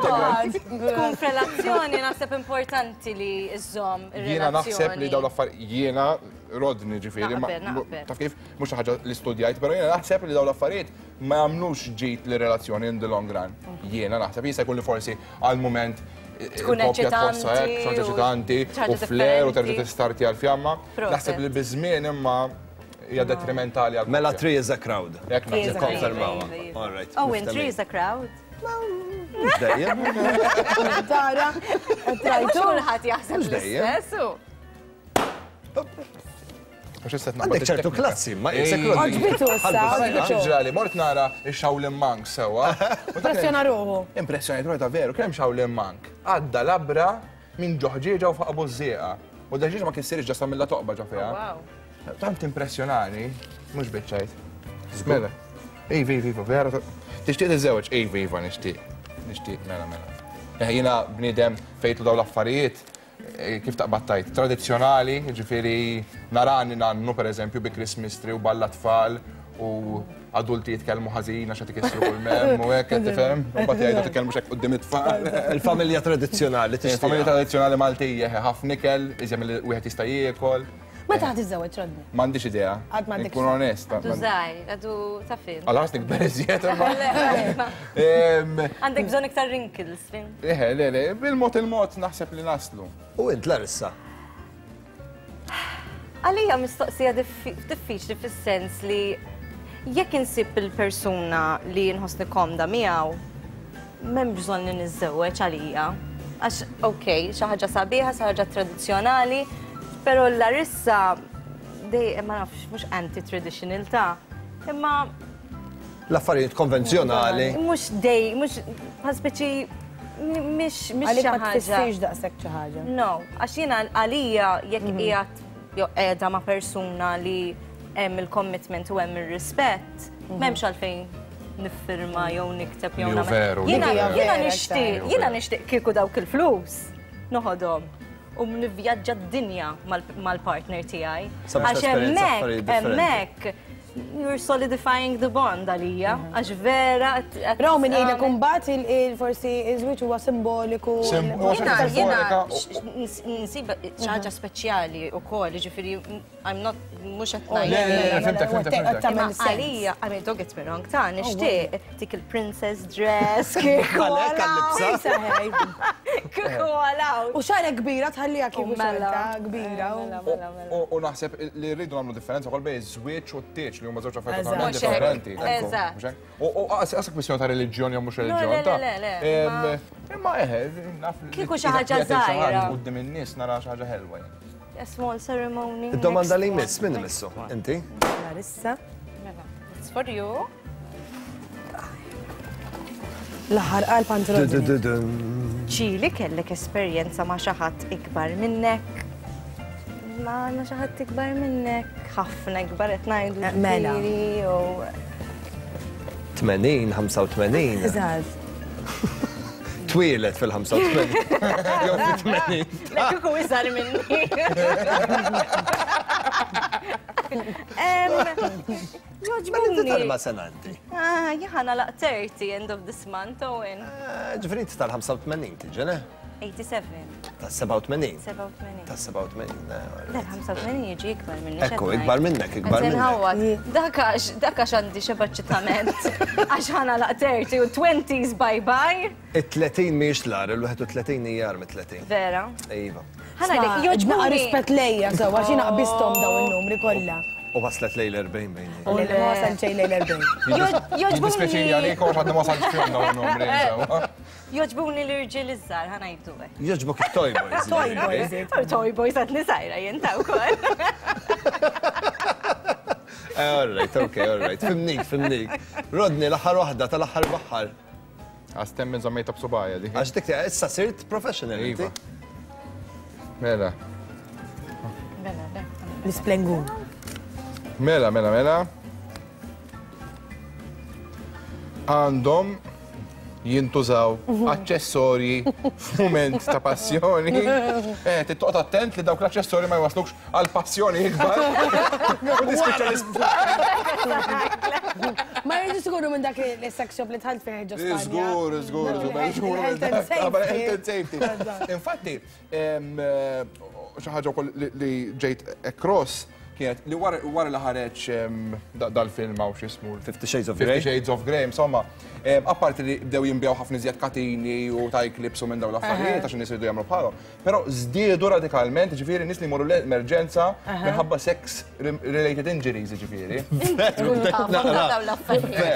Tkun f'relazzjoni naħseb importanti li żżomm ir-relazzjoni. Jiena naħseb li dawn l-affarijiet jiena Rodney ġifieri, ma- Naqbel, naqbel. taf kif mhux xi ħaġa li studjajt, però jiena naħseb li dawn l-affarijiet ma jagħmlux ġid lir-relazzjoni in the long run. Jiena naħseb jista' jkun li forsi għal mument Tkun il-koppja tħossha hekk, eċitanti xi ħaġa u eċitanti xi ħaġa u flair u terġa' differenti. tistarti għall-fjamma. Proset. Naħseb li biż-żmien imma hija detrimentali għal Mela three is a crowd. Hekk Three is a naħseb. crowd. Konfermawha. Iva, iva. All right. Oh, and three is a crowd. Mhux dejjem. Tara, Mhux trajtu. kulħadd jaħseb Mhux dejjem. l-istess. u- Għax issa qed naqbad Għandek ċertu it-teknika. klassi, ma jisek Ej. Għoġbitu issa, Għandek għoġbitu. xi ġrali, mort nara ix-Shaolin Monk sewwa. U dak kien- Impressjona ruħu. Impressjonajt ruħi ta' veru, kemm Shaolin Monk. Għadda labra minn ġo ħġieġa u fuq bużżieqa. U d-ħġieġa ma kissirx ġasta mill toqba ġo fiha. Wow. Tant impressjonani, mhux biċċajt. Mela. Iva, iva, iva, vera. Tixtieq tiżżewweġ? Iva, iva, nixtieq. Nixtieq, mela, mela. Eh, Jiena bniedem fejtlu dawn l-affarijiet, eh, kif taqbad tajt, tradizzjonali, ġifieri narani nannu pereżempju bi Christmas tree u balla tfal u adulti jitkellmu ħażin għax qed ikissru kull mem u hekk qed tifhem, u mbagħad jgħidu titkellmux hekk quddiem it-tfal. Il-familja tradizzjonali tixtieq. Il-familja tradizzjonali Maltija, ħafna ikel, iżjem li wieħed jista' jiekol. Meta ħad tiżżewweġ Rodney? M'għandix idea. Għad m'għandekx. Nkun onest. Għadu żgħir, għadu ta' fin. Għal ħares nikber iżjed imma. Le, Em, Għandek bżonn iktar wrinkles, fin. Eħe, le, le, bil-mod il-mod naħseb li naslu. U int Larissa? Għalija mistoqsija diffiċli fis-sens li jekk insib il-persuna li nħossni komda miegħu, m'hemm bżonn li niżżewweġ għalija. Għax, ok, xi ħaġa sabiħa, xi ħaġa tradizzjonali, però Larissa dej ma nafx mhux anti-traditional ta' imma l-affarijiet konvenzjonali. Mhux dej, mhux bħal speċi mhix mhix Għalik ma tfissirx daqshekk xi ħaġa. No, għax jiena għalija jekk mhm. qiegħed jew qiegħda ma' persuna li hemm il-commitment u hemm ir-rispett, mhm. m'hemmx għalfejn niffirma jew nikteb jew nagħmel. Jiena nixtieq, jiena nixtieq kieku dawk il-flus noħodhom u nivvjaġġa d-dinja mal-partner tiegħi. Għax hemmhekk, hemmhekk you're solidifying the bond għalija, mhm. għax vera. Raw min jgħidlek imbagħad il-forsi iż-żwieġ huwa simboliku. Jiena jiena nsib xi ħaġa speċjali wkoll, jiġifieri I'm not mhux qed oh, ngħid. Fimtek, fimtek, fimtek. Għalija, I mean, don't get me wrong, ta' oh, nixtieq dik il-princess dress kieku. Għalhekk għal-libsa. Kieku għalaw. U xarek kbira tħallija kieku mela. xorta kbira. Mela, mela, mela. U naħseb li rridu nagħmlu differenza wkoll bejn iż-żwieġ u t-tieġ li huma żewġ affarijiet totalment differenti. Eżatt. U qas kwistjoni ta' reliġjon jew mhux reliġjon. Le, le, le. Imma eħe, naf. Kieku xi ħaġa żgħira. Quddiem in-nies nara xi ħaġa ħelwa. A small ceremony. Id-domanda li jmiss, min imissu? Inti? Larissa. Mela, it's for you. L-aħħar qalb għand Ġieli kellek esperjenza ma' xi ħadd ikbar minnek? Ma ma xi ħadd ikbar minnek, ħafna ikbar qed ngħidu. Eh, mela. 80, 85. Eżatt. Twieled fil-85. Jew fit-80. Le kieku iżgħar minni. Jogħġbuni. Tal ma sena inti? Ah, jħana laq 30 end of this month, Owen. Eh, ġifieri inti tal-85 tiġi, ne? 87. Ta' 87. 87. Ta' 87. Le, 85 jiġi ikbar minni. Ekku, ikbar minnek, ikbar minnek. Dak għax għandi xeba ċitament. Għax ħana laq 30 u 20s bye bye. It-30 mhijiex l-agħar, il-31 hija agħar mit-30. Vera? Iva. Ħa ngħidlek, jogħġbuni. Rispett lejja sew għax jiena qbisthom dawn in-numri kollha. U waslet lejl 40 bejni. U le ma wasalt xejn lejl 40. Jogħġbuni. Dispjaċini għalik għax għadni ma wasaltx fihom dawn in-numri. Jogħġbuni l-irġiel iż-żgħar, ħa ngħidu hekk. Jogħġbok it-toy boys. Toy boys. Toy boys għadni żgħira jien ta' wkoll. All right, okay, all right. Fimnik, fimnik. Rodney, l-aħħar waħda tal-aħħar baħħar. Għax temmen żammejta b'subgħajja dik. Għax dik issa sirt professional inti. Iva. Mela. Mela, le. L-isplengun. Mela, mela, mela. Għandhom jintużaw aċċessorji f'mument ta' passjoni. Eh, tittoqgħod attent li dawk l-aċċessorji ma jwaslukx għal passjoni ikbar. U tispiċċa l-isptar. Ma jridux ikunu minn dak il-sex shop li dħalt fih ġo Spanja. Żgur, żgur, żgur. Health and safety. Health and safety. Infatti, xi ħaġa wkoll li ġejt across kienet li wara li ħareġ dal-film hawn x'ismu. Fifty Shades of Grey. Fifty Shades of Grey, insomma, apparti li bdew jinbigħu ħafna iżjed katini u tie clips u minn dawn l-affarijiet għax in-nies iridu jagħmlu bħalhom. Però żdiedu radikalment, jiġifieri nies li jmorru l-emerġenza minħabba sex related injuries, jiġifieri.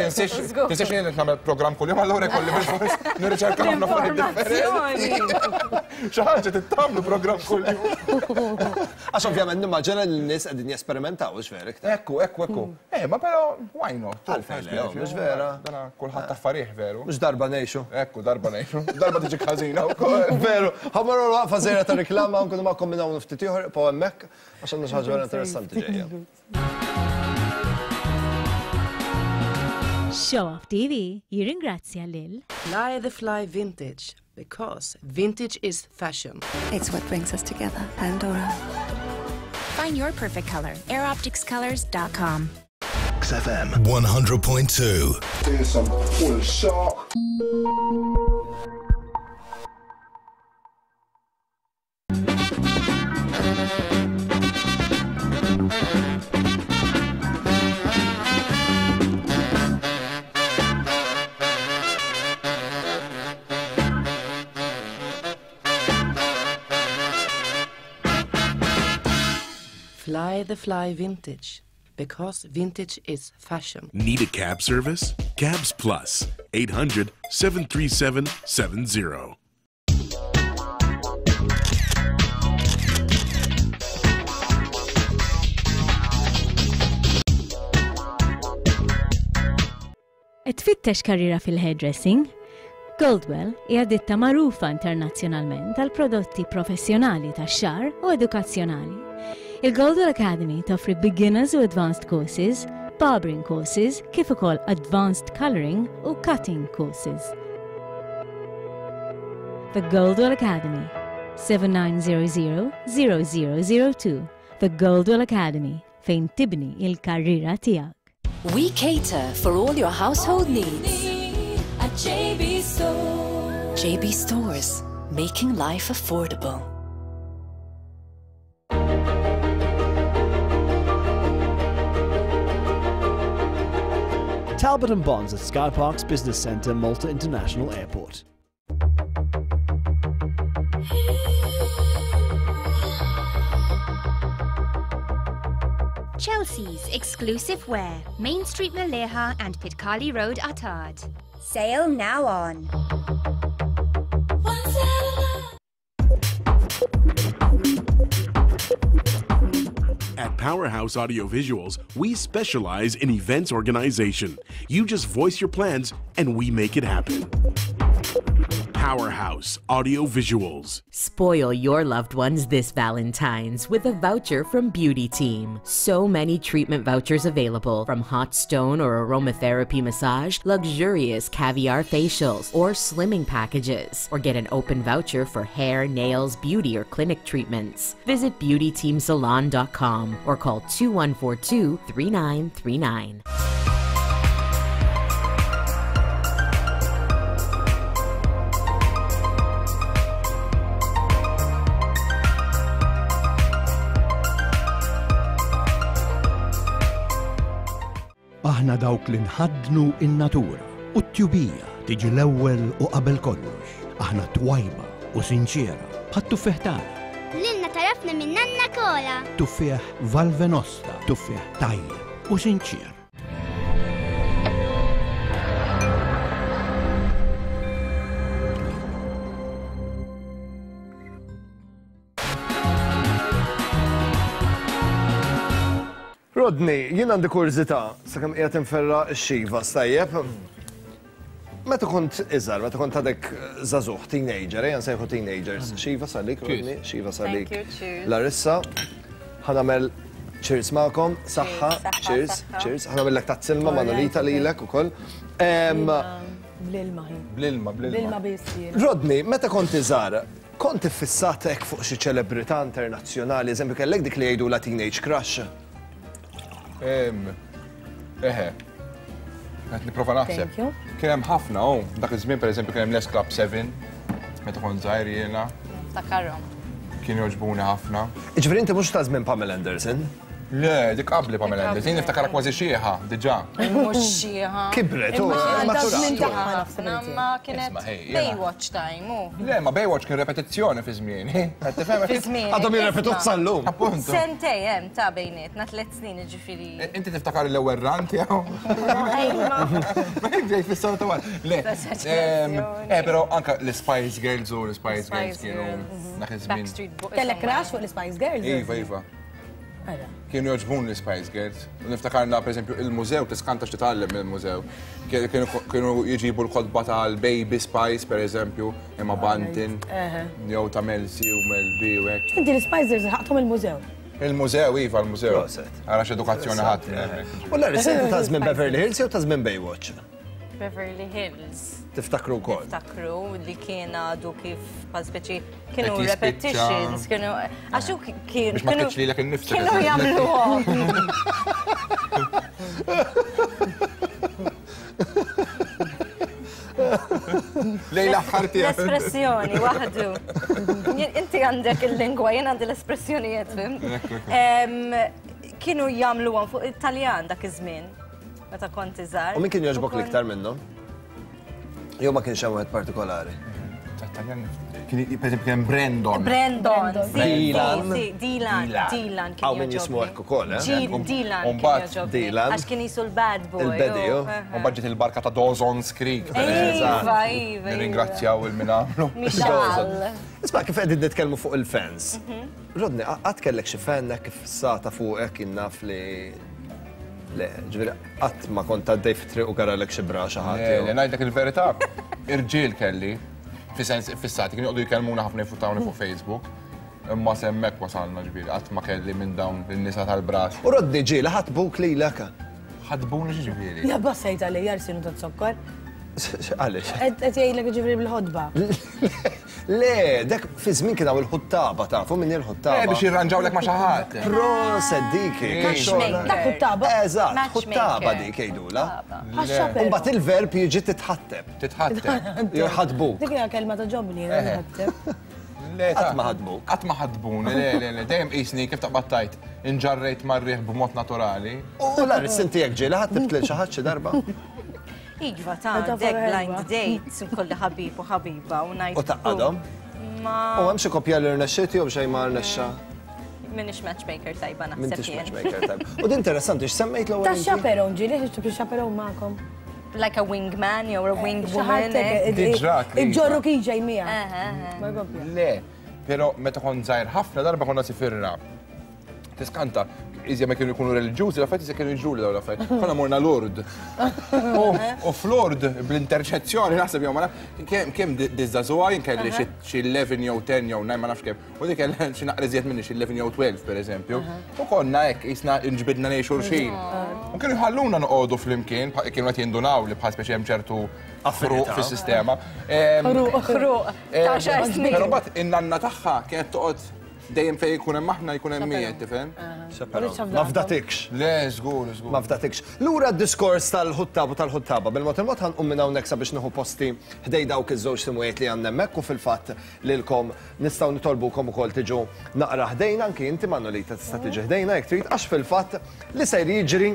Tinsiex tinsiex li qed nagħmel programm kuljum allura jkolli bilfors nirriċerka ħafna affarijiet differenti. Xi ħaġa trid tagħmlu programm kuljum. Għax ovvjament nimmaġina li n-nies qegħdin jesperimentaw, hux vera iktar? Ekku, ekku, ekku. Eh, ma però why not? Għalfejn le, mhux vera? Dana kulħadd affarih veru. Mhux darba ngħixu. Ekku, darba ngħixu. Darba tiġi ħażina wkoll. Veru, ħa mmorru waqfa żgħira ta' riklama u nkunu magħkom minn hawn ftit ieħor, ibqgħu hemmhekk għax għandna xi ħaġa vera interessanti ġejja. Show Off TV jirringrazzja lil. Fly the Fly Vintage, because vintage is fashion. It's what brings us together, Pandora. Find your perfect color. AirOpticsColors.com. XFM 100.2. Here's some full shock. Fly the Fly Vintage, because vintage is fashion. Need a cab service? Cabs Plus, 800 737 70. Qed tfittex karriera fil-hairdressing? Goldwell hija ditta magħrufa internazzjonalment għal prodotti professjonali tax-xagħar u edukazzjonali. Il-Goldwell Academy toffri beginners u advanced courses, barbering courses, kif ukoll advanced coloring u cutting courses. The Goldwell Academy, 7900 0002. The Goldwell Academy, fejn tibni il-karriera tiegħek. We cater for all your household needs. At JB Stores. JB Stores, making life affordable. Talbot and Bonds at Skyparks Business Centre, Malta International Airport. Chelsea's exclusive wear, Main Street Maleha and Pitkali Road, Attard. Sale now on. At Powerhouse Audiovisuals, we specialize in events organization. You just voice your plans and we make it happen. Powerhouse Audiovisuals. Spoil your loved ones this Valentine's with a voucher from Beauty Team. So many treatment vouchers available from hot stone or aromatherapy massage, luxurious caviar facials, or slimming packages. Or get an open voucher for hair, nails, beauty, or clinic treatments. Visit beautyteamsalon.com or call 2142 3939. Aħna dawk li nħaddnu in-natura u t-tjubija tiġi l-ewwel u qabel kollox. Aħna twajba u sinċiera bħat-tuffieħ tagħna. Lilna tarafna minn nanna kola. Tuffieħ Valvenosta, tuffieħ tajjeb u sinċier. Rodney, jien għandi kurżità sakemm qiegħed inferra x-xiva stajjeb. Meta kont iżgħar, meta kont għadek żagħżugħ, teenager, ejja nsejħu teenagers. Xiva salik, Rodney, xiva salik. Larissa, ħa nagħmel cheers magħkom, saħħa, cheers, cheers. Ħa nagħmellek tazz ilma Manolita lilek ukoll. Bl-ilma. Bl-ilma, bl-ilma. Bl-ilma biss. Rodney, meta kont iżgħar, kont iffissat hekk fuq xi ċelebrità internazzjonali, eżempju kellek dik li jgħidulha teenage crush? Eħe. Qed nipprova naħseb. Kien hemm ħafna, oh, dak iż-żmien pereżempju kien hemm Les Club 7, meta kont żgħir jiena. Niftakarhom. Kienu jogħġbuni ħafna. Jiġifieri inti mhux ta' żmien Pamela Anderson? Le, dik qabli Pamela Anderson, jien niftakarha kważi xieħa, diġà. Mhux xieħa. Kibret, u maturat. Ma kienet Baywatch time, u. Le, ma Baywatch kien repetizzjoni fi żmieni. Fi żmieni. Għadhom jirrepetuh sal-lum. Appuntu. Sentej hemm ta' bejnietna, tliet snin jiġifieri. Inti tiftakar l-ewwel run tiegħu? Ma jekk ġej fis-sena ta' wara. Le. Eh, però anka l-Spice Girls u l-Spice Girls kienu dak iż-żmien. Kellek crush fuq l-Spice Girls? Iva, iva. Kienu jogħġbuni l-Spice Girls. U niftakarna, per eżempju, il-mużew, tiskanta x'titgħallem mill-mużew. Kienu jġibu l-kotba tal-Baby Spice, per eżempju, imma Bantin, jew ta' Mel C u Mel B u hekk. Inti l-Spice Girls ħaqthom il-mużew? Il-mużew, iva, l-mużew. Ara x'edukazzjoni ħadd. U Larry, inti ta' żmien Beverly Hills jew ta' żmien Baywatch? Beverly Hills. Tiftakru wkoll. Niftakru li kien għadu kif bħal speċi kienu repetitions, kienu għax hu kien. Biex ma tgħidx lilek innifsek. Kienu jagħmluhom. Lejn l-aħħar tiegħek. L-espressjoni waħdu. Inti għandek il-lingwa, jien għandi l-espressjonijiet, fim. Kienu jagħmluhom fuq it-Taljan dak iż-żmien. Meta kont iżgħar. U min kien jogħġbok l-iktar minnhom? Jew ma kienx hemm wieħed partikolari? Kien per eżempju kien Brandon. Brandon, Dylan. Dylan, Dylan kien Hawn min jismu hekk ukoll, eh? Dylan kien jogħġobni. Dylan. Għax kien jisu l-bad boy. Il-beddy, oh. U mbagħad ġiet il-barka ta' Dawson's Creek. Iva, iva. Nirringrazzjaw il min għamlu. Michal. Isma' kif qegħdin nitkellmu fuq il-fans. Rodney, qatt kellek xi fan hekk iffissata fuqek jien naf li. Le, ġifieri qatt ma kont għaddej fit-triq u garalek xi bra xi ħadd. Le, ngħidlek il-verità, irġiel kelli, fi sens fissati, kienu joqogħdu jkellmuna ħafna jfutawni fuq Facebook. Imma s'hemmhekk wasalna ġifieri, qatt ma kelli minn dawn in-nisa tal-bras. U Rodney ġieli ħatbuk lilek? Ħatbuni x'ġifieri? Ja bassajt għalija rsinu ta' zokkor. Għaliex? Qed jgħidlek ġifieri bil-ħodba. Le, dak fi żmien kien hawn il-ħuttaba tafu min il-ħuttaba. Eh, biex jirranġawlek ma' xi ħadd. Proset dik. Dak ħuttaba. Eżatt, ħuttaba dik jgħidula. Imbagħad il-verb jiġi titħatteb. Titħatteb. Jew ħadbuk. Dik hija kelma ta' ġobni, titħatteb. Le, Qatt ma ħadbuk. Qatt ma ħadbuni, le, le, le, dejjem qisni kif taqbad tajt, inġarrejt mar-riħ b'mod naturali. U Laris, inti jekk ġieli ħattibt lil xi ħadd xi darba? Iva, ta' dek blind date, kolli ħabib u ħabiba u ngħid. U taqqadhom? Ma. U hemm xi koppja li rnexxiet jew xejn ma rnexxa? Minix matchmaker tajba naħseb. M'intix matchmaker tajba. U din interessanti x'semmejt l-ewwel. Ta' chaperone ġieli ħriġtu biex chaperone magħkom. Like a wingman jew a wingwoman. Iġġorru kif ġej miegħek. Le, però meta kont żgħir ħafna darba konna sifirna. Tiskanta, iżja ma kienu jkunu reliġjużi, l-affarijiet iżja kienu jiġru dawn l-affarijiet. Konna morna Lourdes. U f'Lourdes, bl-interċezzjoni, naħseb jew ma nafx, kemm diżżagħżugħa jien kelli xi 11 jew 10 jew 9 ma nafx kemm. U dik kellha xi naqra iżjed minni xi 11 jew 12 pereżempju. U konna hekk qisna nġbidna lejn xulxin. U kienu jħalluna noqogħdu flimkien, kienu qed jindunaw li bħal speċi hemm ċertu ħruq fis-sistema. Ħruq, ta' xar snin. Però mbagħad in-nanna tagħha kienet toqgħod Dejjem fejn jkun hemm aħna jkun hemm miegħek, tifhem? Ma fdatikx. Le, żgur, żgur. Ma fdatikx. Lura d-diskors tal-ħuttab u tal-ħuttaba, bil-mod il-mod ħanqum minn hawnhekk sabiex nieħu posti ħdej dawk iż-żewġ simwiet li għandna hemmhekk u fil-fatt lilkom nistgħu nitolbukom ukoll tiġu naqra ħdejna, anki inti Manolita tista' tiġi ħdejna jekk trid, għax fil-fatt li ser jiġri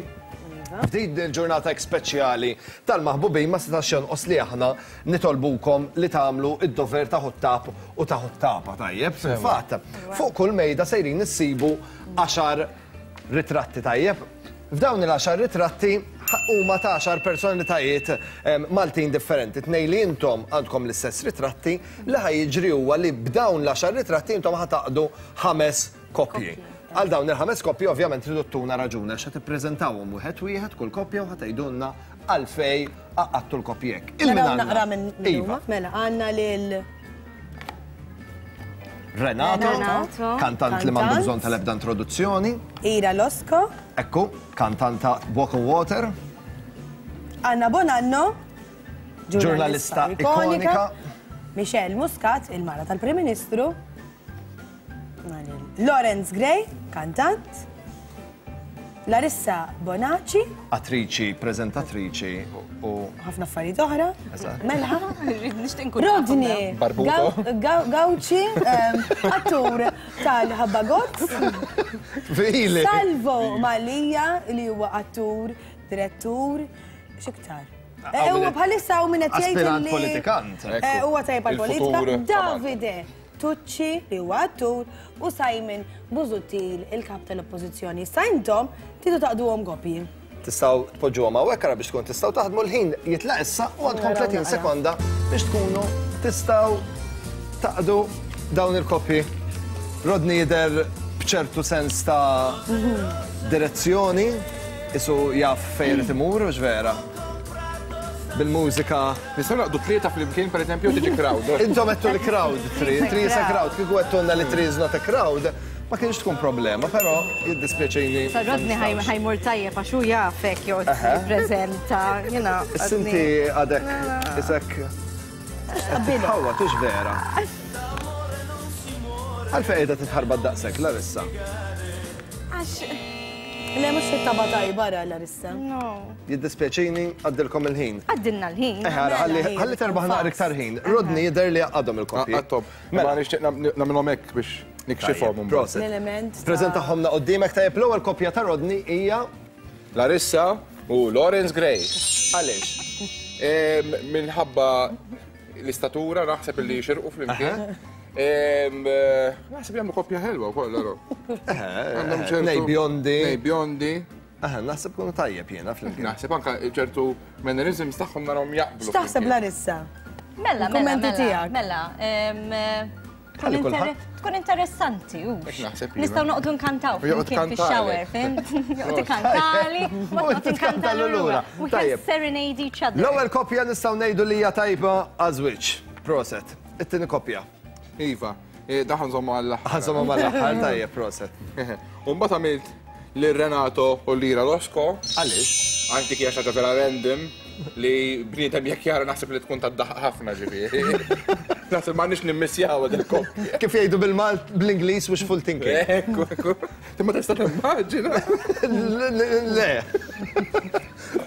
f'din il-ġurnata hekk speċjali tal-maħbubin ma setax jonqos li aħna nitolbukom li tagħmlu d-dover ta' ħuttab u ta' ħuttaba, tajjeb? Fil-fatt, fuq kull mejda sejrin issibu għaxar ritratti, tajjeb? F'dawn il-għaxar ritratti huma ta' għaxar personalitajiet Maltin differenti. Tnejn li intom għandkom l-istess ritratti, li ħa jiġri huwa li b'dawn l-għaxar ritratti intom ħa tgħaqqdu ħames koppji. Għal dawn il-ħames koppji ovvjament tridu ttuna raġuni għax ħa tippreżentawhom wieħed wieħed kull koppja u ħa tgħidulna għalfejn għaqqadtu l-koppji hekk. Il min Naraw għandna? naqra minn min Iva. huma. Mela, għandna lil Renato, Renato, kantant li m'għandu kantant. bżonn tal-ebda introduzzjoni. Ira Losco, Ekku, kantanta Walk on Water. Anna Bonanno, Ġurnalista ikonika. Michelle Muscat, il-mara tal-Prim Ministru, Lawrence Gray, kantant, Larissa Bonaci, Attriċi, preżentatriċi u. Ħafna affarijiet oħra. Eżatt. Melħa. Nixtieq nkun Rodney Barbuto. Gauci, attur tal-Ħabba Gozz. Fili. Salvo Mallia li huwa attur, direttur, x'iktar. Huwa bħalissa hawn min qed jgħid Aspirant politikant. Huwa tajjeb għall-politika. Il-futur. Davide Tucci li huwa attur u Simon Busuttil il-kap tal-Oppożizzjoni. Issa intom tridu taqduhom koppji. Tistgħu tpoġġuhom hawnhekk ara biex tkun tistgħu taħdmu l-ħin jitlaq issa u għandkom 30 sekonda biex tkunu tistgħu taqdu dawn il-koppji. Rodney jidher b'ċertu sens ta' direzzjoni, isu jaf fejn irid imur, hux vera? Bil-mużika. Nistgħu naqdu tlieta flimkien pereżempju tiġi crowd. Intom għedtu li crowd, three, three is a crowd. Kieku għedtulna li three is not a crowd, ma kienx tkun problema, però jiddispjaċini. Sa Rodney ħajmur tajjeb għax hu jaf hekk joqgħod jippreżenta, jiena. Issa inti għadek isek Ħawwa, tux vera. Għalfejn qiegħda titħarbat daqshekk, Larissa? Għax. Le, mhux fit-taba tajba ra Larissa. No. Jiddispjaċini, għaddilkom il-ħin. Għaddilna l-ħin. Eh, ara, ħalli ħalli terbaħ naqra iktar ħin. Rodney jidher li għaqqadhom il-koppji. Għaqqadhom. Mela nixtieq nagħmilhom hekk biex nikxifhom. Proset. L-element. Preżentahomna quddiemek tajjeb l-ewwel koppja ta' Rodney hija Larissa u Lawrence Gray. Għaliex? Minħabba l-istatura naħseb li jixirqu flimkien. Naħseb jagħmlu koppja ħelwa wkoll allora. Għandhom ċertu. Nej bjondi. Nej bjondi. Aha, naħseb kunu tajjeb jiena flimkien. Naħseb anka ċertu mannerisms tagħhom narahom jaqblu. X'taħseb Larissa? Mela, mela, Il-kummenti mela, tiegħek. Mela, Tkun interessanti, u. Nistgħu noqogħdu nkantaw flimkien fix-shower, fhimt? Joqgħod ikantali, u noqgħod inkantalu lura. We can serenade each other. L-ewwel koppja nistgħu ngħidu li hija tajba għaż-żwieġ. Proset. It-tieni koppja. Iva, dan ħa nżommu għall-aħħar. Ħa nżommu għall-aħħar, tajjeb, proset. U mbagħad għamilt lil Renato u Lira Losco. Għaliex? Għax dik hija xi ħaġa vera random li bniedem jekk jara naħseb li tkun tad-daħq ħafna ġifieri. Naħseb m'għandniex nimmissjaw din il-koppja. Kif jgħidu bil-Malt bl-Ingliż wishful thinking. Ekku, ekku. Imma tista' timmaġina. Le.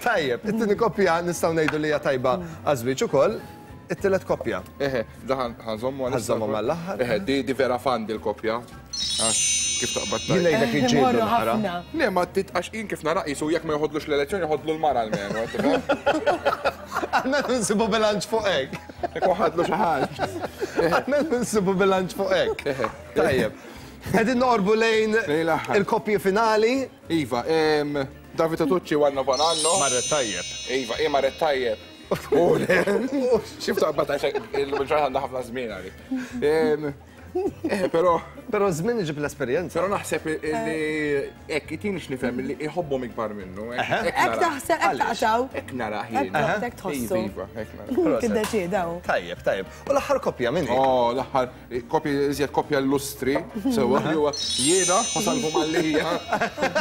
Tajjeb, it-tieni koppja nistgħu ngħidu li hija tajba għaż-żwieġ ukoll. It-tielet koppja. Eħe, da ħa nżommu għal. Ħa nżommu mal-aħħar. Eħe, di vera fan di l-koppja. Għax kif taqbad Jien ngħidlek jiġġieldu naqra. Le, ma għax jien kif nara qisu jekk ma joħodlux l-elezzjoni joħodlu l-mara almenu. Almenu nsibu bilanċ fuq hekk. Jekk ħadlu xi ħaġa. Almenu nsibu bilanċ fuq hekk. Tajjeb. Qegħdin noqorbu lejn il-koppji finali. Iva, Davide Tucci u Anna Bonanno. Marret tajjeb. Iva, i marret tajjeb. Xif taqbad għax il-ġurnata għandha ħafna żmien għalik. Eh, però. Però żmien iġib l-esperjenza. Però naħseb li hekk itini x'nifhem li iħobbhom ikbar minnu. Hekk taħseb, hekk taqtaw. Hekk nara ħin. Hekk tħossu. Iva, hekk nara. Tiddeċieda. Tajjeb, tajjeb. U l-aħħar koppja min hi? Oh, l-aħħar koppja iżjed koppja illustri, sewwa li huwa jiena u Salvu Mallia.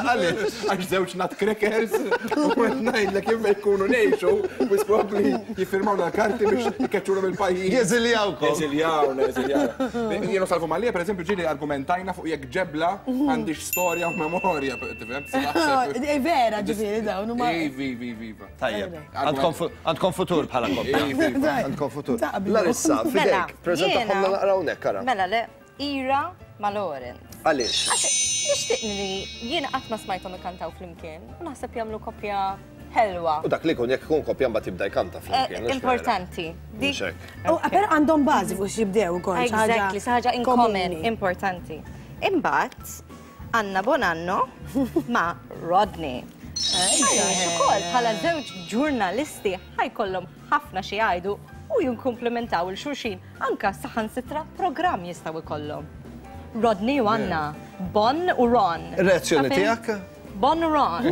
Għaliex? Għax żewġ nutcrackers u qed ngħidlek jekk jkunu ngħixu, wis probabbli jiffirmawna l-karti biex ikeċċuna mill-pajjiż. Jeżiljawkom. Jeżiljawna, jeżiljawna. Jiena u Salvu Mallia, pereżempju, ġieli argumentajna fuq jekk ġebla għandhiex storja u memorja, tifhem? Eh, vera ġifieri dawn huma. Ivi, ivi, iva. Tajjeb. Għandkom futur bħala koppja. Għandkom futur. Larissa, Mela, fidejk, preżentahomna naqra hawnhekk ara. Mela le, Ira ma' Lawrence. Għaliex? Għax nixtieq li jiena qatt ma smajthom ikantaw flimkien u naħseb jagħmlu koppja ħelwa. U dak li jkun jekk ikun koppja mbagħad jibda jkanta flimkien. Eh, importanti. Però għandhom bażi fuq x'jibdew ukoll. Exactly, xi ħaġa in common importanti. Imbagħad Anna Bonanno ma' Rodney. Għaliex ukoll bħala żewġ ġurnalisti ħajkollhom ħafna xi jgħidu u jinkumplimentaw il xulxin anka saħansitra programm jistgħu jkollhom. Rodney u Anna, Bon u Ron. Reazzjoni tiegħek? Bon u Ron.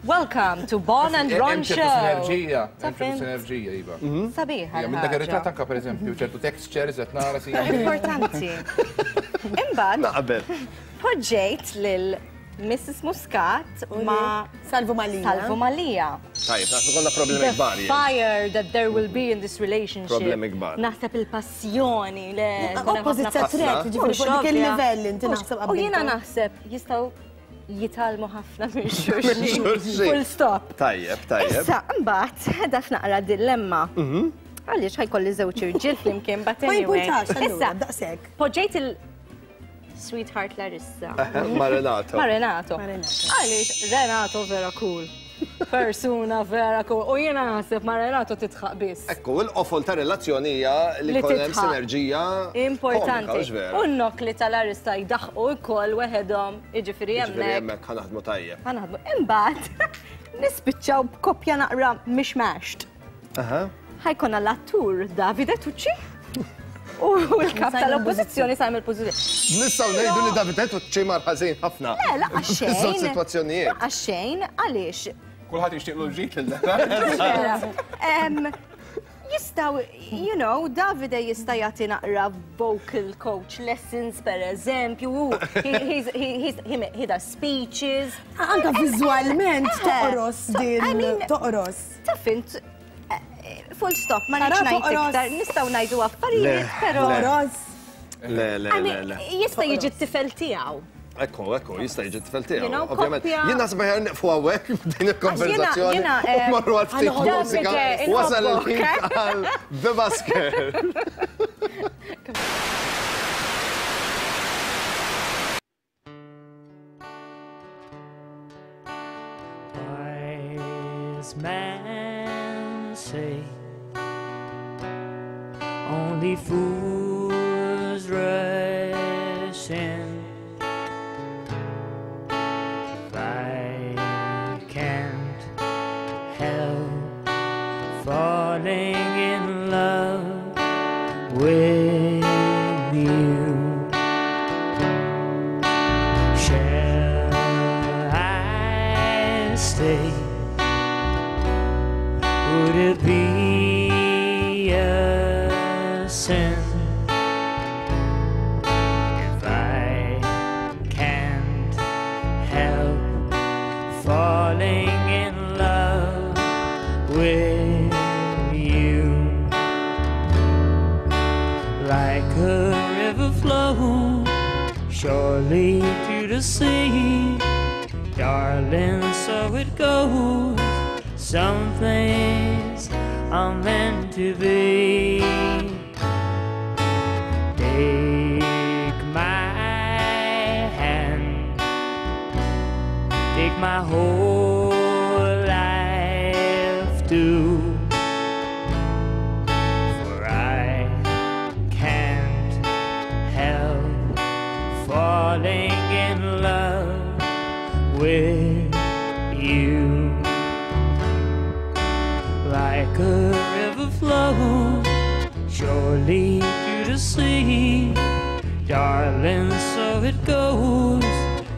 Welcome to Bon and Ron Show. Sinerġija, sinerġija, iva. Mhm. Sabiħa. Minn dak ir-ritratt anka pereżempju ċertu textures qed nara si. Importanti. Imbagħad. Naqbel. Poġġejt lil Mrs. Muscat ma' Salvu Malija. Salvu Malija. Tajjeb, naħseb konna problemi kbar. The fire that there will be in this relationship. Problemi kbar. Naħseb il-passjoni le. Opposite sex attract, ġifieri fuq dik il-livell inti naħseb U jiena naħseb jistgħu jitgħallmu ħafna minn xulxin. Full stop. Tajjeb, tajjeb. Issa, mbagħad daf naqra dilemma. Mhm. Għaliex ħajkolli żewġ irġiel flimkien but Ma anyway. jimpurtax, allura, Issa, daqshekk. poġġejt il Sweetheart Larissa. Ma' Renato. Ma' Renato. Għaliex Renato vera cool. Persuna vera cool. U jiena naħseb ma' Renato titħaq biss. Ekku, il-qofol ta' relazzjoni hija li jkun hemm sinerġija. Importanti. U n-nokli tal-arista jdaħqu wkoll weħedhom, jiġifieri hemmhekk. Jiġifieri hemmhekk ħa naħdmu tajjeb. Ħa naħdmu. Imbagħad nispiċċaw b'koppja naqra mishmashed. Ħa jkollna l-attur Davide Tucci u l-kap tal-oppożizzjoni Simon Busuttil. Nistgħu ngħidu li Davide Tucci mar ħażin ħafna. Le, laqas xejn. Fiż-żewġ sitwazzjonijiet. Laqas xejn, għaliex? Kulħadd jixtieqlu l-ġid lil Jistaw, you know, Davide jista' jagħti naqra vocal coach lessons per eżempju, he does speeches. Anka viżwalment toqros din, toqros. Taf int, full stop, ma nix ngħid iktar, nistgħu ngħidu affarijiet, però. Le, le, le, le. Jista' jiġi t-tifel tiegħu. Ekku, ekku, jista' jiġi t-tifel tiegħu. Ovvjament. Jien naħseb aħjar nieqfu hawnhekk din il-konverzazzjoni. U marru għal ftit mużika. Wasal il-ħin għal The Busker. Wise men say only fools rush in. If I can't help falling in love with you. say? Would it be a sin if I can't help falling in love with you? Like a river flows surely to the sea, darling, so it goes. Some things are meant to be. Take my hand, take my whole life too, for I can't help falling in love with you. Like a river flows surely to the sea, darling, so it goes.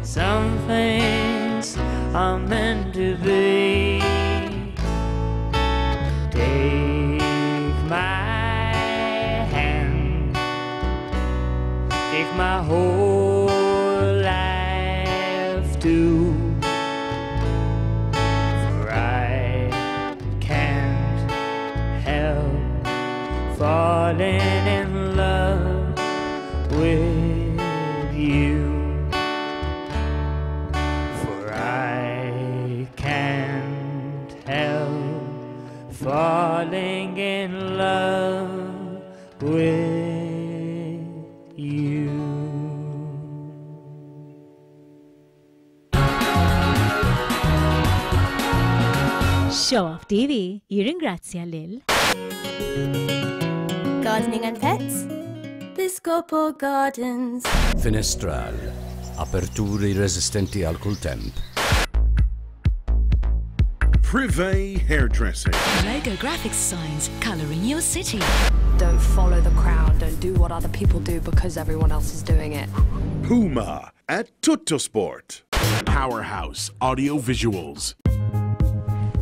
Some things are meant to be. Take my hand, take my whole life too, for I can't help falling in love with you. For I can't help falling in love with you. Show Off TV jirringrazzja lil Gardening and Pets, Piscopo Gardens. Finestral, aperturi resistenti għal kull temp. Privé Hairdressing. Logo graphics signs colouring your city. Don't follow the crowd, don't do what other people do because everyone else is doing it. Puma at Tuttosport. Powerhouse Audio Visuals.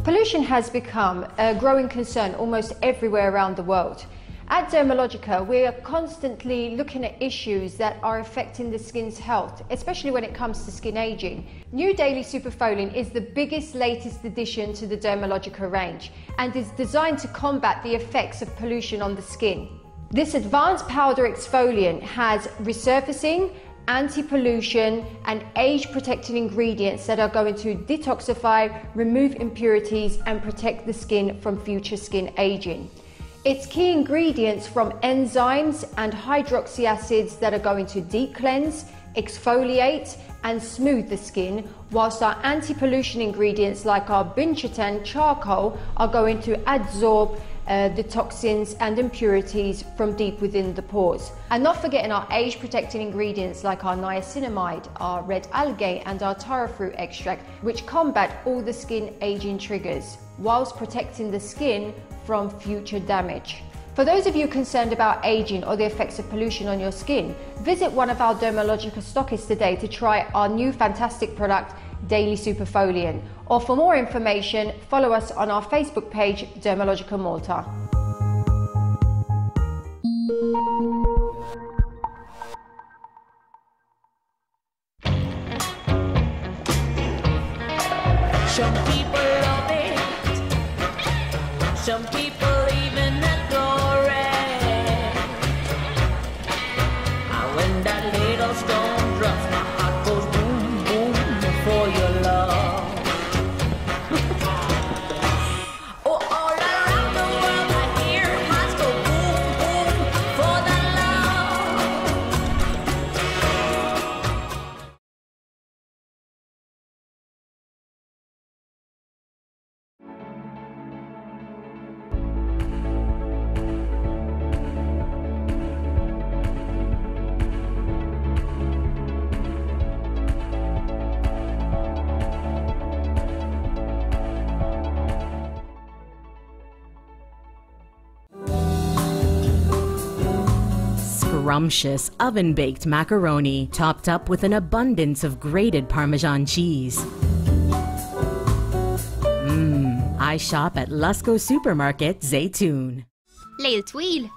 Pollution has become a growing concern almost everywhere around the world. At Dermalogica, we are constantly looking at issues that are affecting the skin's health, especially when it comes to skin aging. New Daily Superfoliant is the biggest, latest addition to the Dermalogica range and is designed to combat the effects of pollution on the skin. This advanced powder exfoliant has resurfacing, anti-pollution and age-protecting ingredients that are going to detoxify, remove impurities and protect the skin from future skin aging. Its key ingredients from enzymes and hydroxy acids that are going to deep cleanse, exfoliate and smooth the skin, whilst our anti-pollution ingredients like our binchotan charcoal are going to adsorb the toxins and impurities from deep within the pores. And not forgetting our age-protecting ingredients like our niacinamide, our red algae and our taro fruit extract, which combat all the skin aging triggers, whilst protecting the skin from future damage. For those of you concerned about aging or the effects of pollution on your skin, visit one of our Dermalogica stockists today to try our new fantastic product, Daily Superfoliant. Or for more information, follow us on our Facebook page, Dermalogica Malta. Some people love it, some people even adore it. And when that little stone drops, my heart goes boom, boom for your love. Oh, all around the world I hear hearts go boom, boom for the love. Scrumptious oven-baked macaroni topped up with an abundance of grated Parmesan cheese. I shop at Lusco Supermarket, Zaytoun. Lejl twil.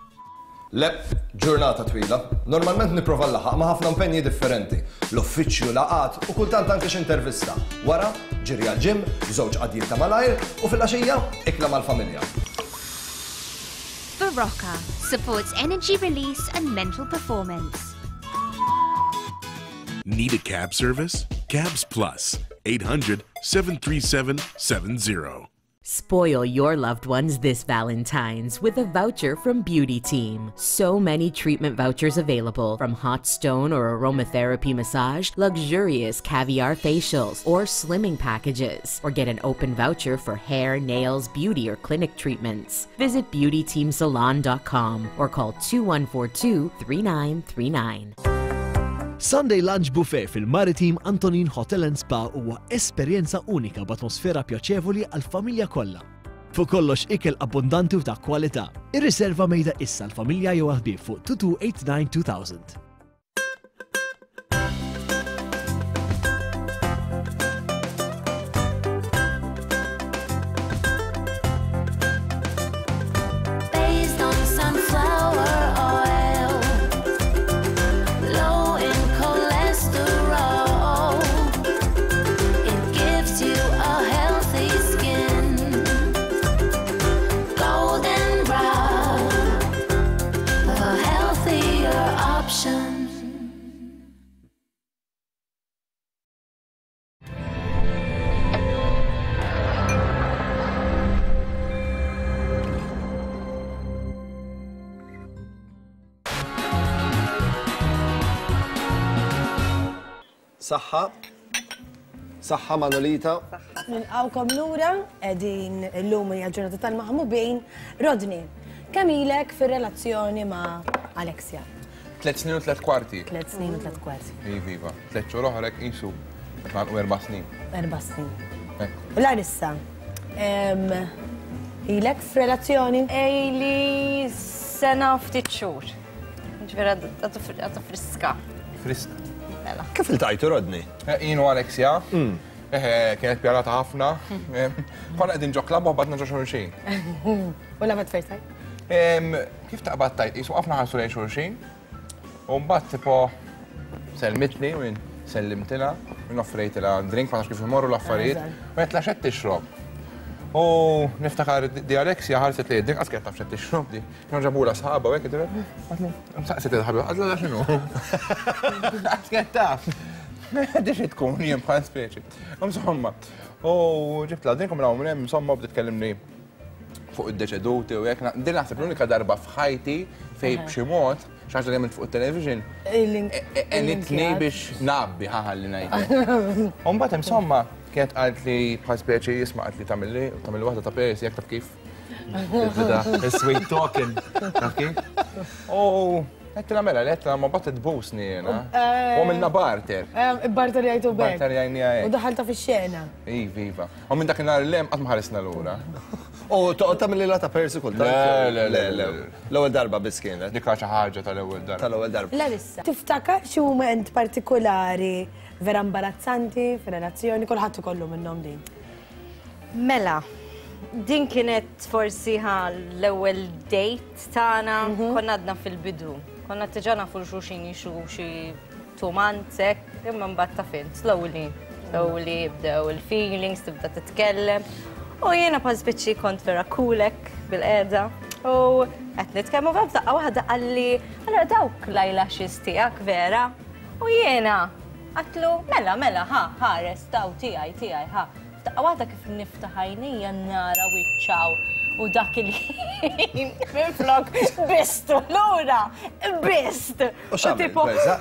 Le, ġurnata twila. Normalment nipprova nlaħħaq ma' ħafna impenji differenti. L-uffiċċju, laqgħat u kultant anke xi intervista. Wara, ġiri għall-gym, żewġ qadjiet ta' malajr u filgħaxija, ikla mal-familja. Berocca supports energy release and mental performance. Need a cab service? Cabs Plus, 800 737 70. Spoil your loved ones this Valentine's with a voucher from Beauty Team. So many treatment vouchers available from hot stone or aromatherapy massage, luxurious caviar facials, or slimming packages. Or get an open voucher for hair, nails, beauty, or clinic treatments. Visit beautyteamsalon.com or call 2142 3939. Sunday Lunch Buffet fil-Maritim Antonin Hotel and Spa huwa esperjenza unika b'atmosfera pjaċevoli għall-familja kollha. Fuq kollox ikel abbundanti u ta' kwalità. Irriserva mejda issa għall-familja jew għall-ħbieb fuq 2289 2000. Based on sunflower oil, low in cholesterol. It gives you a healthy skin, golden brown, a healthier option. Saħħa. Saħħa Manolita. Nilqawkom lura qegħdin illum hija ġurnata tal-maħmubin. Rodney, kemm ilek fir-relazzjoni ma' Alexia? Tlet snin u tlet kwarti. Tlet snin u tlet kwarti. Iva, iva. Tlet xhur oħra hekk qisu qed nagħlqu erba' snin. Erba' snin. Hekk. Larissa, ilek f'relazzjoni? Ili sena u ftit xhur. Ġifieri għadu friska. Friska. Mela. Kif iltqajtu Rodney? Eh, jien u Alexia. Mm. Eh, kienet pjanata ħafna. Eh, konna qegħdin ġo klabb u ħbatna ġo xulxin. U love at first sight? Kif taqbad tajt, jisu għafna ħarsu lejn xulxin. U mbagħad tipo selmitni u jien sellimtilha, u offrejtilha drink, ma nafx kif imorru l-affarijiet, u għedtla x'qed tixrob. U niftakar di Alexia ħarset li drink qas kienet taf x'qed tixrob di. Kienu ġabula sħaba u hekk saqsiet il-ħabib, għadla x'inhu. Qas kienet taf. Di xi tkun jien bħal speċi. Insomma, u ġibtla drink u minn hemm insomma bdiet tkellimni fuq id-deċeduti u hekk. Din naħseb l-unika darba f'ħajti fej b'xi mod, xi ħaġa li għamilt fuq it-television, għenitni biex nabbi ħaħalli ngħid. U mbagħad insomma kienet qalt li bħal speċi jisma' qalt li tagħmilli tagħmilli waħda ta' persi jekk taf kif. Sweet talking, taf kif? U għedtilha mela, għedtilha ma bat tbusni jiena. U għamilna barter. Barter jgħidu bek. Barter jgħidni hekk. U daħalta fix-xena. Iva, iva. U minn dakinhar 'l hemm qatt ma ħarisna lura. U toqgħod tagħmel lilha ta' persi kultant? Le, le, le, le. L-ewwel darba biss kienet. Dik xi ħaġa tal-ewwel darba. Tal-ewwel darba. Larissa, tiftakar xi mument partikolari vera imbarazzanti fir-relazzjoni? Kulħadd ikollu minnhom din. Mela, din kienet forsi ħa l-ewwel date tagħna, konna għadna fil-bidu. Konna diġà nafu 'l xulxin jixu xi two months hekk, imma mbagħad taf int, slowly, slowly jibdew il-feelings, tibda titkellem. U jiena bħal spiċċi kont vera cool hekk bil-qiegħda. U qed nitkellmu vera f'daqqa waħda qalli, allura dawk l-eyelashes tiegħek vera? U jiena għatlu, mela, mela, ħa, ħares, daw tiegħi, tiegħi, ħa. F'daqqa waħda kif niftaħ għajnejja nara wiċċaw u dak il-ħin minflok bistu lura, bist. U x'għamilt, Berza?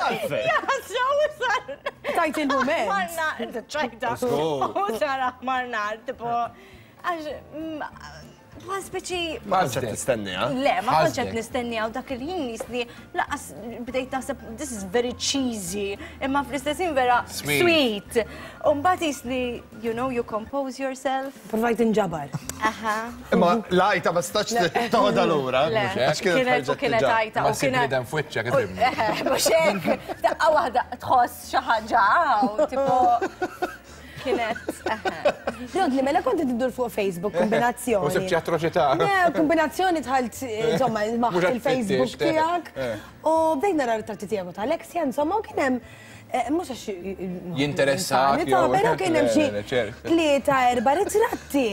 Għalfejn? Jaħasra u sar. Tajt il-mument. Marna, ċajta. U sar aħmar nar, tipo, għax, Bħal speċi. Ma kontx qed tistenniha. Le, ma kontx qed nistenniha u dak il-ħin jisni laqas bdejt naħseb this is very cheesy, imma fl-istess ħin vera sweet. U mbagħad jisni, you know, you compose yourself. Provajt inġabar. Aha. Imma l-għajta ma stax toħodha lura. Għax kienet kienet għajta. Ma ssib bniedem f'wiċċek ifhimni. Mhux hekk, daqqa waħda tħoss xi ħaġa hawn, tipo Kienet. Rodni, mela kont iddur fuq Facebook, kombinazzjoni. U sibċi atroċità. Le, kombinazzjoni tħalt, insomma, maħt il-Facebook tiegħek. U bdejt nara ritratti tiegħek u ta' Alexia, insomma, u kien hemm mhux għax Jinteressak. Però kien hemm xi tlieta erba' ritratti.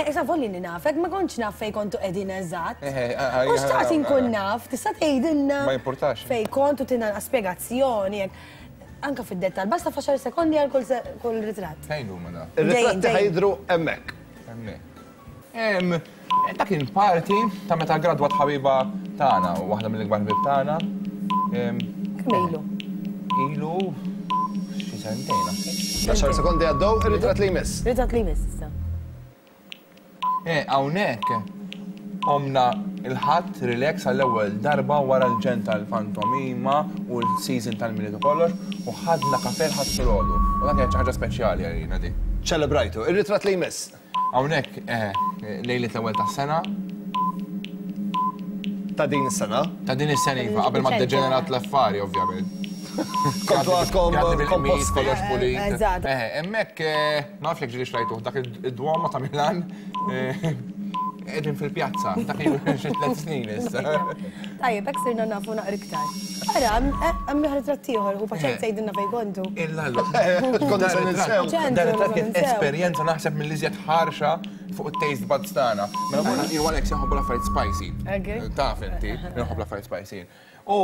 Issa volli li nafek, ma kontx naf fej kontu qegħdin eżatt. U xtaqt inkun naf, tista' tgħidilna. Ma jimpurtax. Fej kontu tina spjegazzjoni. Anka fid-dettal, basta f'għaxar sekondi għal kull ritratt. Fejn huma da? Ir-ritratti ħa jidhru hemmhekk. Hemmhekk. Dak kien party ta' meta ggradwat ħabiba tagħna, waħda mill-ikbar ħbieb tagħna. Kemm ilu? Ilu xi sentejn naħseb. Għaxar sekondi għaddew, ir-ritratt li jmiss. Ritratt li jmiss issa. Eh, hawnhekk qomna il-Ħadd relax għall-ewwel darba wara l-ġenn tal-pantomima u l-season tal-Milied u kollox u ħadna kafè l-Ħadd filgħodu. U dak kienet xi ħaġa speċjali għalina dik. Ċelebrajtu. Ir-ritratt li jmiss. Hawnhekk, eh, lejliet l-ewwel tas-sena. Ta' din is-sena? Ta' din is-sena iva, qabel ma ddeġenerat l-affari ovvjament. Kontu għadkom komposti. Kollox pulit. Eżatt. Eh, hemmhekk ma nafx jekk ġieli xrajtuh dak id-Duomo ta' Milan. Qegħdin fil-pjazza, dak ilu xi tliet snin issa. Tajjeb, hekk sirna nafu naqra iktar. Ara, hemm ieħor ritratt ieħor, u paċenza jgħidilna fejn kontu. Illallu. Konna se ninsew. Dan ritratt kien esperjenza naħseb mill-iżjed ħarxa fuq it-taste buds tagħna. Mela morna jien u Alex inħobbu l-affarijiet spicy. Taf inti, inħobb l-affarijiet spicy. U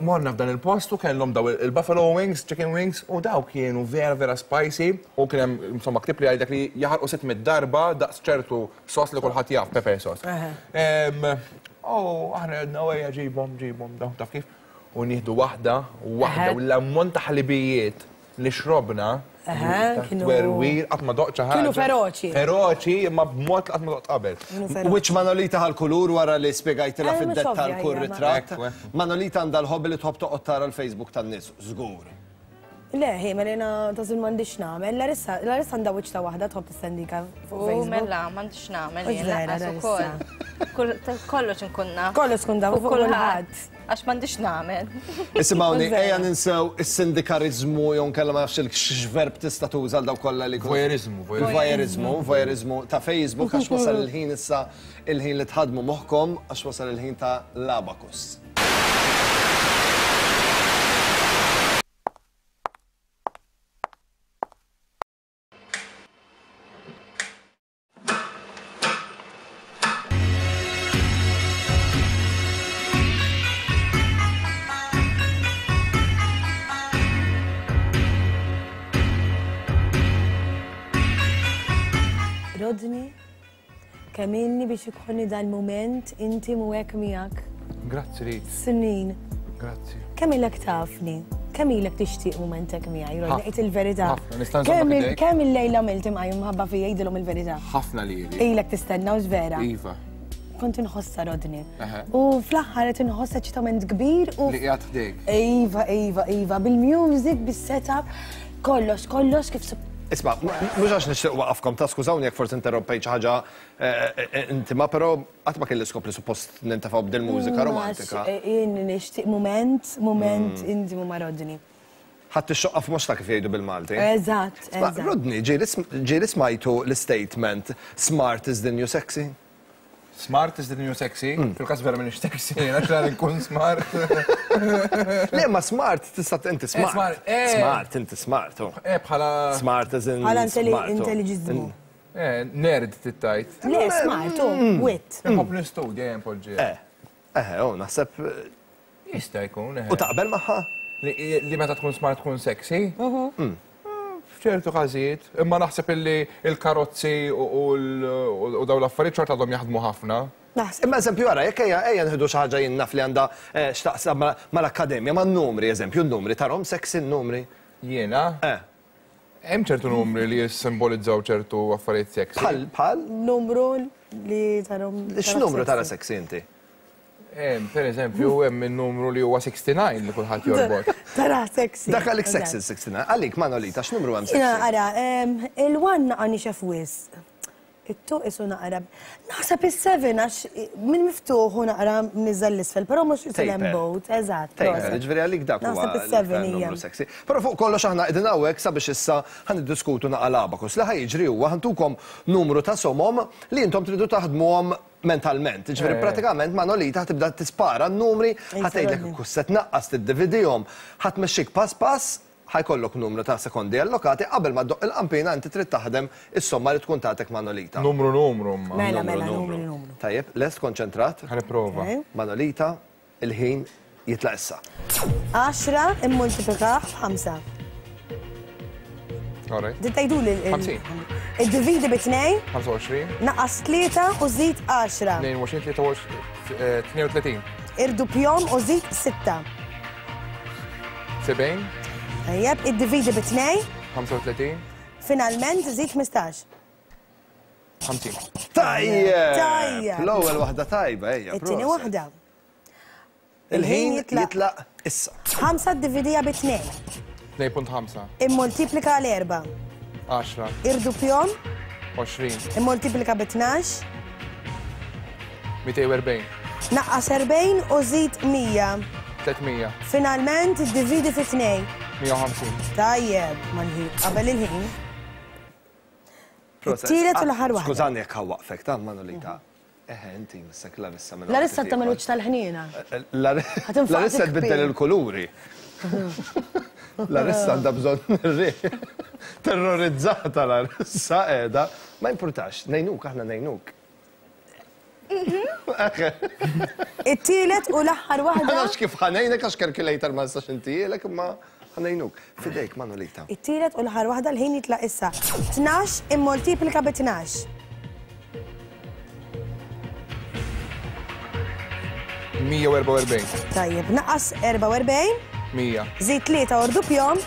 morna f'dan il-post u kellhom daw il-buffalo wings, chicken wings, u daw kienu vera vera spicy u kien hemm insomma ktieb li jgħidlek li jaħarqu 600 darba daqs ċertu sos li kulħadd jaf, pepper sauce. U aħna għedna ejja ġibhom, ġibhom daw taf kif. U nieħdu waħda, waħda u l-ammont ta' ħlibijiet li xrobna Twerwir, qatt ma doqt xi ħaġa. Kienu feroċi. Feroċi, imma b'mod li qatt ma doqt qabel. Wiċċ Manolita ħa l-kulur wara li spjegajtilha fid-dettall kull ritratt. Manolita għandha l-hobby li tħobb toqgħod tara l-Facebook tan-nies, żgur. Le, hi, mela jiena tażul m'għandix x'nagħmel. Larissa, Larissa għandha wiċċ ta' waħda tħobb tistendika fuq Facebook. U mela, m'għandix x'nagħmel jien lanqas ukoll. Kollox inkun naf. Kollox tkun taf fuq kulħadd. Għax m'għandix nagħmel. Isimgħuni, ejja ninsew is-sindikarizmu jew nkella ma nafx x'verb tista' tuża għal dawk kollha li Voyeurizmu, voyeurizmu. Voyeurizmu ta' Facebook għax wasal il-ħin issa il-ħin li tħaddmu moħħkom għax wasal il-ħin ta' l-abacus. Rodney, kemm ilni biex ikolli dal-mument intimu hekk miegħek. Grazzi li. Snin. Grazzi. Kemm ilek tafni? Kemm ilek tixtieq mument hekk miegħi, Rodney? Għid il-verità. Ħafna, nista' nżommok idejk. Kemm il-lejla għamilt imqajjem mħabba fija jgħidilhom il-verità. Ħafna lili. Ilek tistenna hux vera? Iva. Kont inħossha Rodney. U fl-aħħar qed inħoss eċitament kbir u. Li qiegħed ħdejk. Iva, iva, iva, bil-music, bis-setup, kollox, kollox kif Isma', mhux għax nixtieq waqafkom ta' skużawni jekk forsi interrompejt xi ħaġa intima, però Qatt ma kelli skop li suppost nintefgħu b'dil mużika romantika. Jien nixtieq mument, mument intimu ma' Rodney. Ħadt ix-xoqqa f'moxtha kif jgħidu bil-Malti. Eżatt, eżatt. Rodney, ġieli smajtu l-istatement smart is the new sexy? Smart is the new sexy? Fil-każ vera m'iniex sexy, għax la nkun smart. Le, ma smart tista' inti smart. Smart, inti smart. Eh, bħala. Smart as in. Bħala intelliġiżmu. Eh, nerd tittajt. Le, smart, u, mm. wit. Nħobb nistudja jen poġġi. Eh, eh, u naħseb. Jista' jkun, eh. U taqbel magħha? Li meta tkun smart tkun sexy. Mhm. Mm. F'ċertu każijiet, imma naħseb illi il-karozzi u daw l-affarijiet xorta għadhom jaħdmu ħafna. Imma eżempju ara, jekk ejja ejja nħidu xi ħaġa jien naf li għandha eh, x'taqsam mal-akkademja, man-numri eżempju, n-numri tarhom sexy n-numri. Jiena? Eh. Hemm ċertu numri li jissimbolizzaw ċertu affarijiet sexy. Bħal, bħal? Numru li tarhom. X'numru tara sexy inti? Per eżempju, hemm in-numru li huwa 69 li kulħadd jorbot. Tara sexy. Dak għalik sexy 69. Għalik Manolita, x'numru hemm sexy? Ara, il-one naqa' nixef wisq. It-two isu naqra. Naħseb is-seven għax minn miftuħ u naqra mniżżel l-isfel, però mhux isu l-emboat, eżatt. Taper, ġifieri għalik dak huwa Naħseb is-seven hija. numru sexy. Però fuq kollox aħna qegħdin hawnhekk sabiex issa ħa niddiskutu naqa' l-abacus. Li ħa jiġri huwa ħa ntukom numru ta' somom li intom tridu taħdmuhom mentalment. Ġifieri pratikament Manolita ħa tibda tispara n-numri, ħa tgħidlek kif se tnaqqas tiddividihom, ħa tmexxik pass pass Ħa jkollok numru ta' sekondi allokati qabel ma ddoqq il-qanpiena inti trid taħdem is-somma li tkun tatek Manolita. Numru numru imma. Mela, mela, numru numru. Tajjeb, lest konċentrat? Ħa nipprova. Manolita, il-ħin jitlaq issa. Għaxra immultiplikah b'ħamsa. All right. Din tgħiduli l- 50. Iddividi bi tnejn, 25. naqqas tlieta u żid għaxra. 22, 23, 32. Irduppjahom u żid sitta. 70. Tajjeb, iddividi bi tnej. 35. Finalment, żid 15. 50. Tajjeb! Tajjeb! L-ewwel waħda tajba, ejja. It-tieni waħda. Il-ħin jitlaq issa. 5 ddividija bi tnejn. 2.5. Immultiplika għal erba'. 10. Irduppjhom. 20. Immultiplika bi 12. 240. Naqqas 40 u żid 100. 300. Finalment iddividi fi tnejn. 150. Tajjeb, mal-ħin, qabel il-ħin. It-tielet u l-aħħar waħda. Skużani jekk ħawwaqfek ta' Manolita. Eħe, inti missek Larissa minn. Larissa tagħmel wiċċ tal-ħniena. Larissa tbiddel il-kuluri. Larissa għandha bżonn ir-riħ. Terrorizzata Larissa qiegħda. Ma jimpurtax, ngħinuk aħna ngħinuk. It-tielet u l-aħħar waħda. Ma nafx kif ħanejnek għax calculator ma nistax intielek imma ħanejnuk. Fidejk Manolita. It-tielet u l-aħħar waħda l-ħin jitlaq issa. 12 immoltiplika bi 12. 144. Tajjeb, naqqas 44. 100. Żid 3 ordupjom.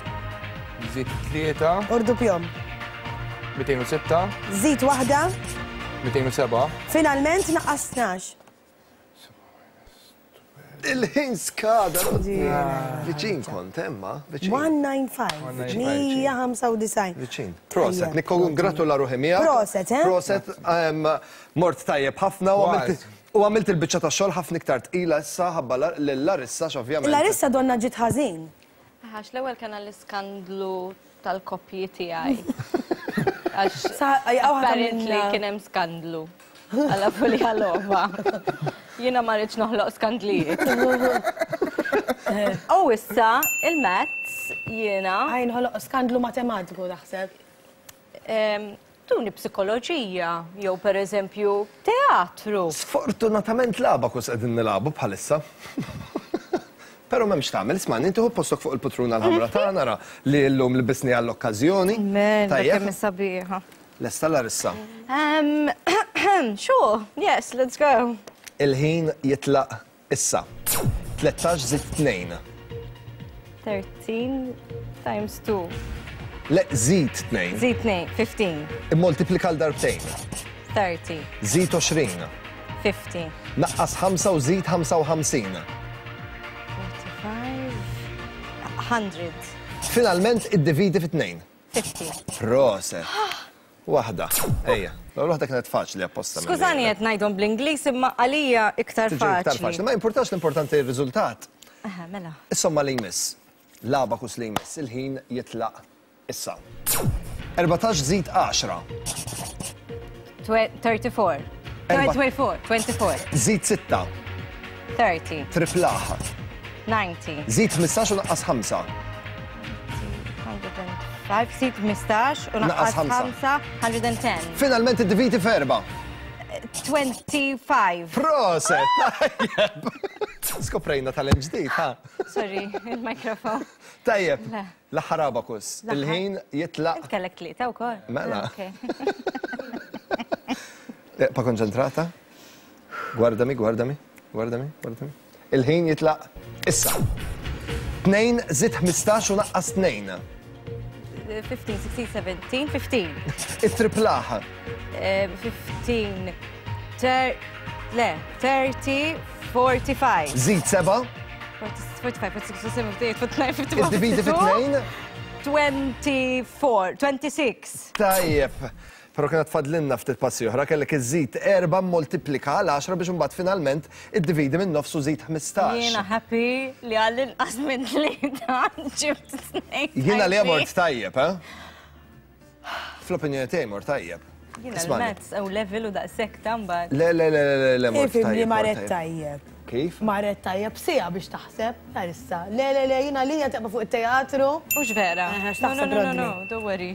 Żid 3. Ordupjom. 206. Żid waħda. 207. Finalment naqqas 12. Il-ħin skada. Viċin kont, emma. Viċin. 195. 195. Viċin. Proset, nikkongratula ruħi miegħek. Proset, eh? Proset, mort tajjeb ħafna u għamilt u għamilt il-biċċa tax-xogħol ħafna iktar tqila issa ħabba lil Larissa x'ovvjament. Larissa donna ġiet ħażin. Għax l-ewwel kena l-iskandlu tal-koppji tiegħi. Għax apparently kien hemm skandlu. Għala fuli għalova. Jiena ma rridx noħloq skandlijiet. U issa il-maths jiena. Għajn ħoloq skandlu matematiku taħseb. Tuni psikoloġija, jew per eżempju teatru. Sfortunatament l-abacus qegħdin nilagħbu bħalissa. Però m'hemmx tagħmel, ismagħni, inti ħu postok fuq il-putruna l-ħamra tagħna ra li llum libisni għall-okkażjoni. Mela, kemm sabiħa. Lesta Larissa? Sure, yes, let's go. Il-ħin jitlaq issa. 13 żid 2. 13 times 2. Le, żid 2. Żid 2, 15. Immoltiplika l darbtejn. 30. Żid 20. 50. Naqqas 5 u żid 55. 45. 100. Finalment iddividi fi 2. 50. Proset. Waħda. Ejja. L-ewwel waħda kienet faċli apposta. Skużani qed ngħidhom bl-Ingliż imma għalija iktar faċli. Iktar faċli. Ma jimpurtax l-importanti r-riżultat. Aha, mela. Is-somma li jmiss. L-abakus li jmiss. Il-ħin jitlaq issa. 14 żid 10. 34. 24. 24. Żid 6. 30. Triplaħ. 90. Żid 15 u naqqas 5. 105, żid 15 u naqqas 5, 110. Finalment iddividi f'erba. 25. Proset, tajjeb. Skoprejna talent ġdid, ha? Sorry, il-mikrofon. Tajjeb, l-aħħar abakus. Il-ħin jitlaq. Int kellek tlieta wkoll. Mela. Pa konċentrata? Gwardami, gwardami, gwardami, gwardami. Il-ħin jitlaq issa. 2 żid 15 u naqqas 2. 15, 16, 17, 15. It-triplaħ. 15, le, 30, 45. Zid 7. 45, 46, 47, 48, 49, 51. Iddividi fi tnejn. 24, 26. Tajjeb. Però kienet fadlinna ftit passi oħra, kellek iżżid 4 moltiplika għal 10 biex imbagħad finalment iddividi minn nofs u żid 15. Jiena happy li għall-inqas minn tlieta ġibt tnejn. Jiena li mort tajjeb, eh? Fl-opinjoni tiegħi mort tajjeb. Jiena l-maths u level u daqshekk ta' mbagħad. Le, le, le, le, le, mort tajjeb. Ifhimni marret tajjeb. Kif? Marret tajjeb siegħa biex taħseb, issa. Le, le, le, jiena lija teqba' fuq it-teatru. Mhux vera. No, no, no, no, don't worry.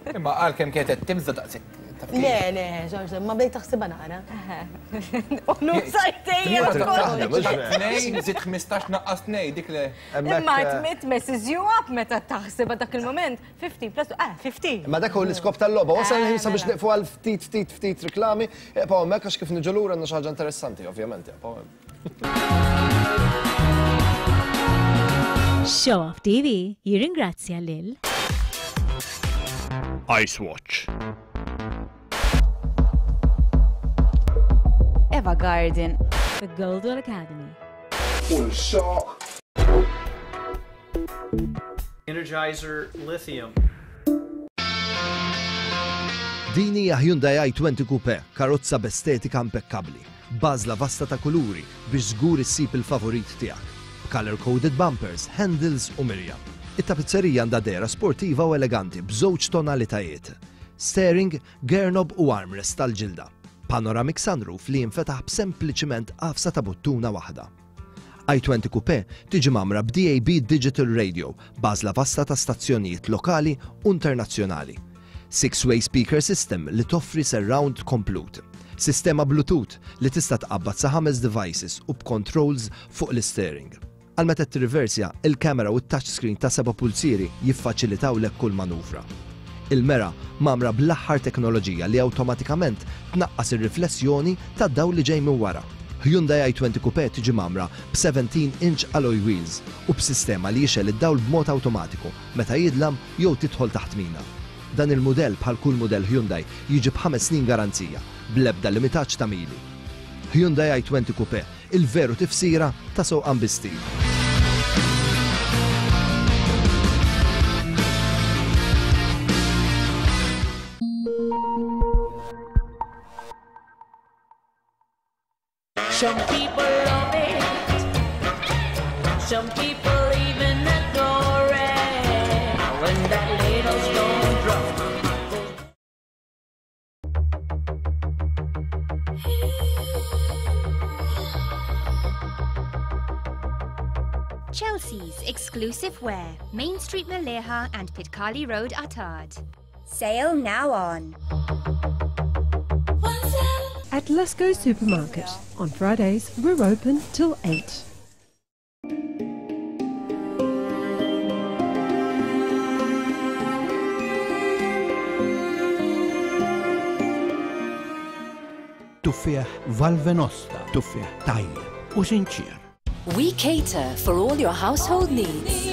Imma għalkemm kienet qed timża daqshekk. Le, le, xorta, ma bdejt taħsibha naqra. U nużajtejja Tnejn, żid 15 naqqas tnejn, dik le. Imma it messes you up meta taħsibha dak il-moment. 15 plus, ah, 15. Ma dak hu l-iskop tal-logħba. Wasal il-ħin sabiex nieqfu għal ftit ftit ftit riklami. Ibqgħu hemmhekk għax kif niġu lura għandna xi ħaġa interessanti, ovvjament. Ibqgħu hemm. Show Off TV jirringrazzja lil Ice Watch. Eva Garden. The Goldwell Academy. Energizer Lithium. Din hija Hyundai i20 Coupe, karozza b'estetika impekkabbli, b'għażla vasta ta' kuluri biex żgur issib il-favorit tiegħek, b'colour-coded bumpers, handles u mirja. It-tapizzerija għandha dehra sportiva u eleganti b'żewġ tonalitajiet. Steering, gear knob u armrest tal-ġilda. Panoramic sunroof li jinfetaħ b'sempliċiment għafsa ta' buttuna waħda. I-20 Coupé tiġi mgħammra b'DAB Digital Radio b'għażla vasta ta' stazzjonijiet lokali u internazzjonali. Six-way speaker system li toffri surround komplut. Sistema Bluetooth li tista' tqabbad sa ħames devices u b'controls fuq l-isteering. Għal meta tirriversja, il-camera u t-touch screen ta' seba' pulzieri jiffaċilitawlek kull manuvra. Il-mera mgħammra bl-aħħar teknoloġija li awtomatikament tnaqqas ir-riflessjoni tad-dawl li ġej minn wara. Hyundai i20 Coupé tiġi mgħammra b' 17 inch alloy wheels u b'sistema li jixgħel id-dawl b'mod awtomatiku meta jidlam jew tidħol taħt mina. Dan il-mudell bħal kull mudell Hyundai jiġi b'ħames snin garanzija, bl-ebda limitaġġ ta' mili. Hyundai i20 Coupé, il-veru tifsira ta' sewqan bi stil. Some people love it, some people even adore it. When that little stone drop Chelsea's exclusive wear, Main Street Maleha and Pitkali Road, Attard. Sale now on. At Lusco Supermarket, on Fridays, we're open till 8. Tuffieħ Valvenosta, tuffieħ tajjeb u sinċier. We cater for all your household needs.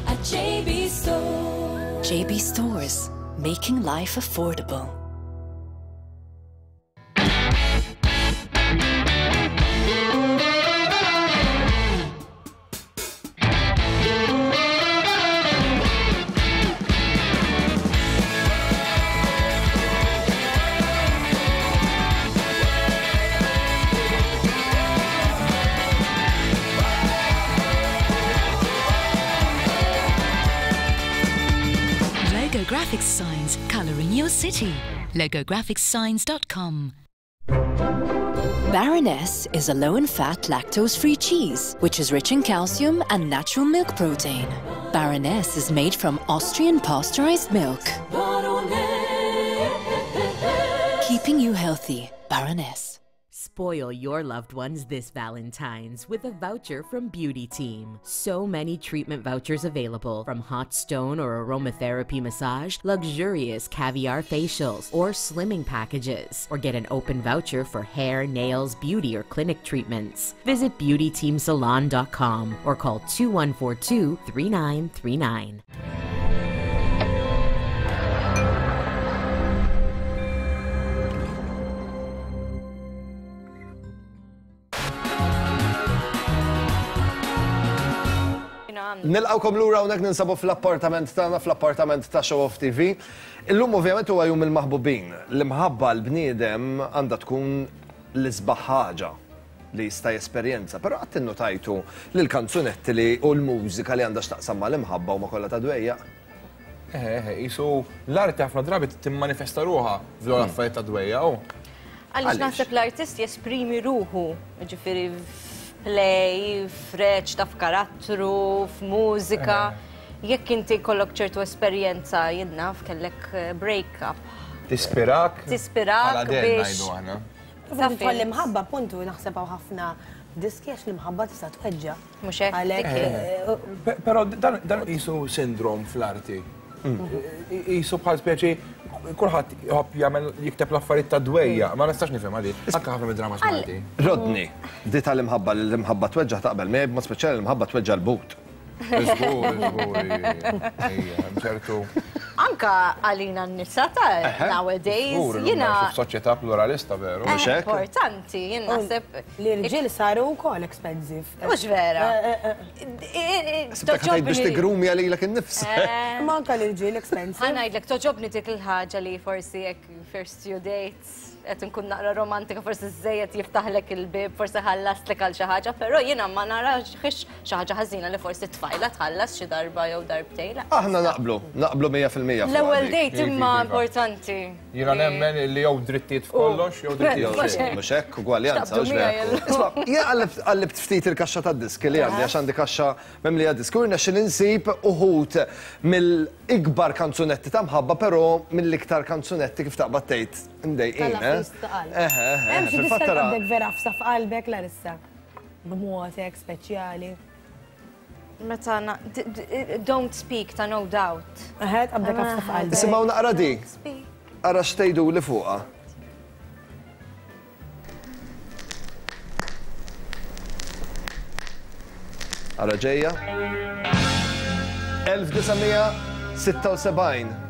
At JB Store. JB Stores, making life affordable. Logo Graphics Signs, colouring your city. LogoGraphicsSigns.com. Baroness is a low in fat, lactose free cheese, which is rich in calcium and natural milk protein. Baroness is made from Austrian pasteurized milk. Keeping you healthy, Baroness. Spoil your loved ones this Valentine's with a voucher from Beauty Team. So many treatment vouchers available from hot stone or aromatherapy massage, luxurious caviar facials, or slimming packages. Or get an open voucher for hair, nails, beauty, or clinic treatments. Visit beautyteamsalon.com or call 2142 3939. Nilqgħukom lura hawnhekk ninsabu fl-appartament tagħna, fl-appartament ta' Show Off TV. Illum ovvjament huwa jum il-maħbubin. L-imħabba l-bniedem għandha tkun l-isbaħ ħaġa li jista' jesperjenza, però qatt innotajtu li l-kanzunetti li u l-mużika li għandha x'taqsam mal-imħabba huma kollha ta' dwejjaq? Eħe, eħe, qisu l-arti ħafna drabi timmanifesta ruħha f'dawn l-affarijiet ta' dwejjaq u. Għaliex naħseb l-artist jesprimi ruħu, jiġifieri f'play, f'reċta, f'karattru, f'mużika. Jekk inti jkollok ċertu esperjenza, jien naf, kellek break-up. Tispirak. Tispirak biex. Ngħidu aħna. Taf l-imħabba, puntu, naħseb hawn ħafna diski għax l-imħabba tista' tweġġa'. Mhux hekk? Għalhekk. Però dan qisu sindrom fl-arti. Qisu bħal speċi kulħadd jħobb jagħmel jikteb l-affarijiet ta' dwejja, ma nistax nifhem għaliex. Anke ħafna mid-dramas Malti. Rodney, di tal-imħabba li l-imħabba tweġġa' taqbel miegħi b'mod speċjali l-imħabba tweġġa' l-but. Żgur, żgur, ejja, ċertu. Anka għalina n-nisa ta' nowadays, jiena. F'soċjetà pluralista veru. Importanti, jien naħseb. L-irġiel saru wkoll expensive. Mhux vera. Toġobni. Biex tigrumja lilek innifsek. Ma anka l-irġiel expensive. Ħa ngħidlek toġobni dik il-ħaġa li forsi jekk first few dates qed inkun naqra romantika forsi żejjed jiftaħlek il-bib, forsi ħallastlek għal xi ħaġa, però jiena ma narax xi ħaġa ħażina li forsi tfajla tħallas xi darba jew darbtejn. Aħna naqblu, naqblu 100% fuq L-ewwel date imma importanti. Jiena nemmen li jew drittijiet f'kollox jew drittijiet f'xejn. Mhux hekk, ugwaljanza, mhux vera. Isma', jien qallibt ftit il-kaxxa tad-diski li għandi għax għandi kaxxa mimlija diski u rnexxieli nsib uħud mill-ikbar kanzunetti ta' mħabba però mill-iktar kanzunetti kif taqbad tgħid imdejqin. Eħe, eħe. Hemm xi diska għandek vera fsa f'qalbek Larissa b'mod hekk speċjali. Meta Don't Speak ta' No Doubt. Eħe, tqabdek għafsa f'qalbek. Isimgħu naqra di. Ara x'tgħiduli fuqha. Ara ġejja. 1976.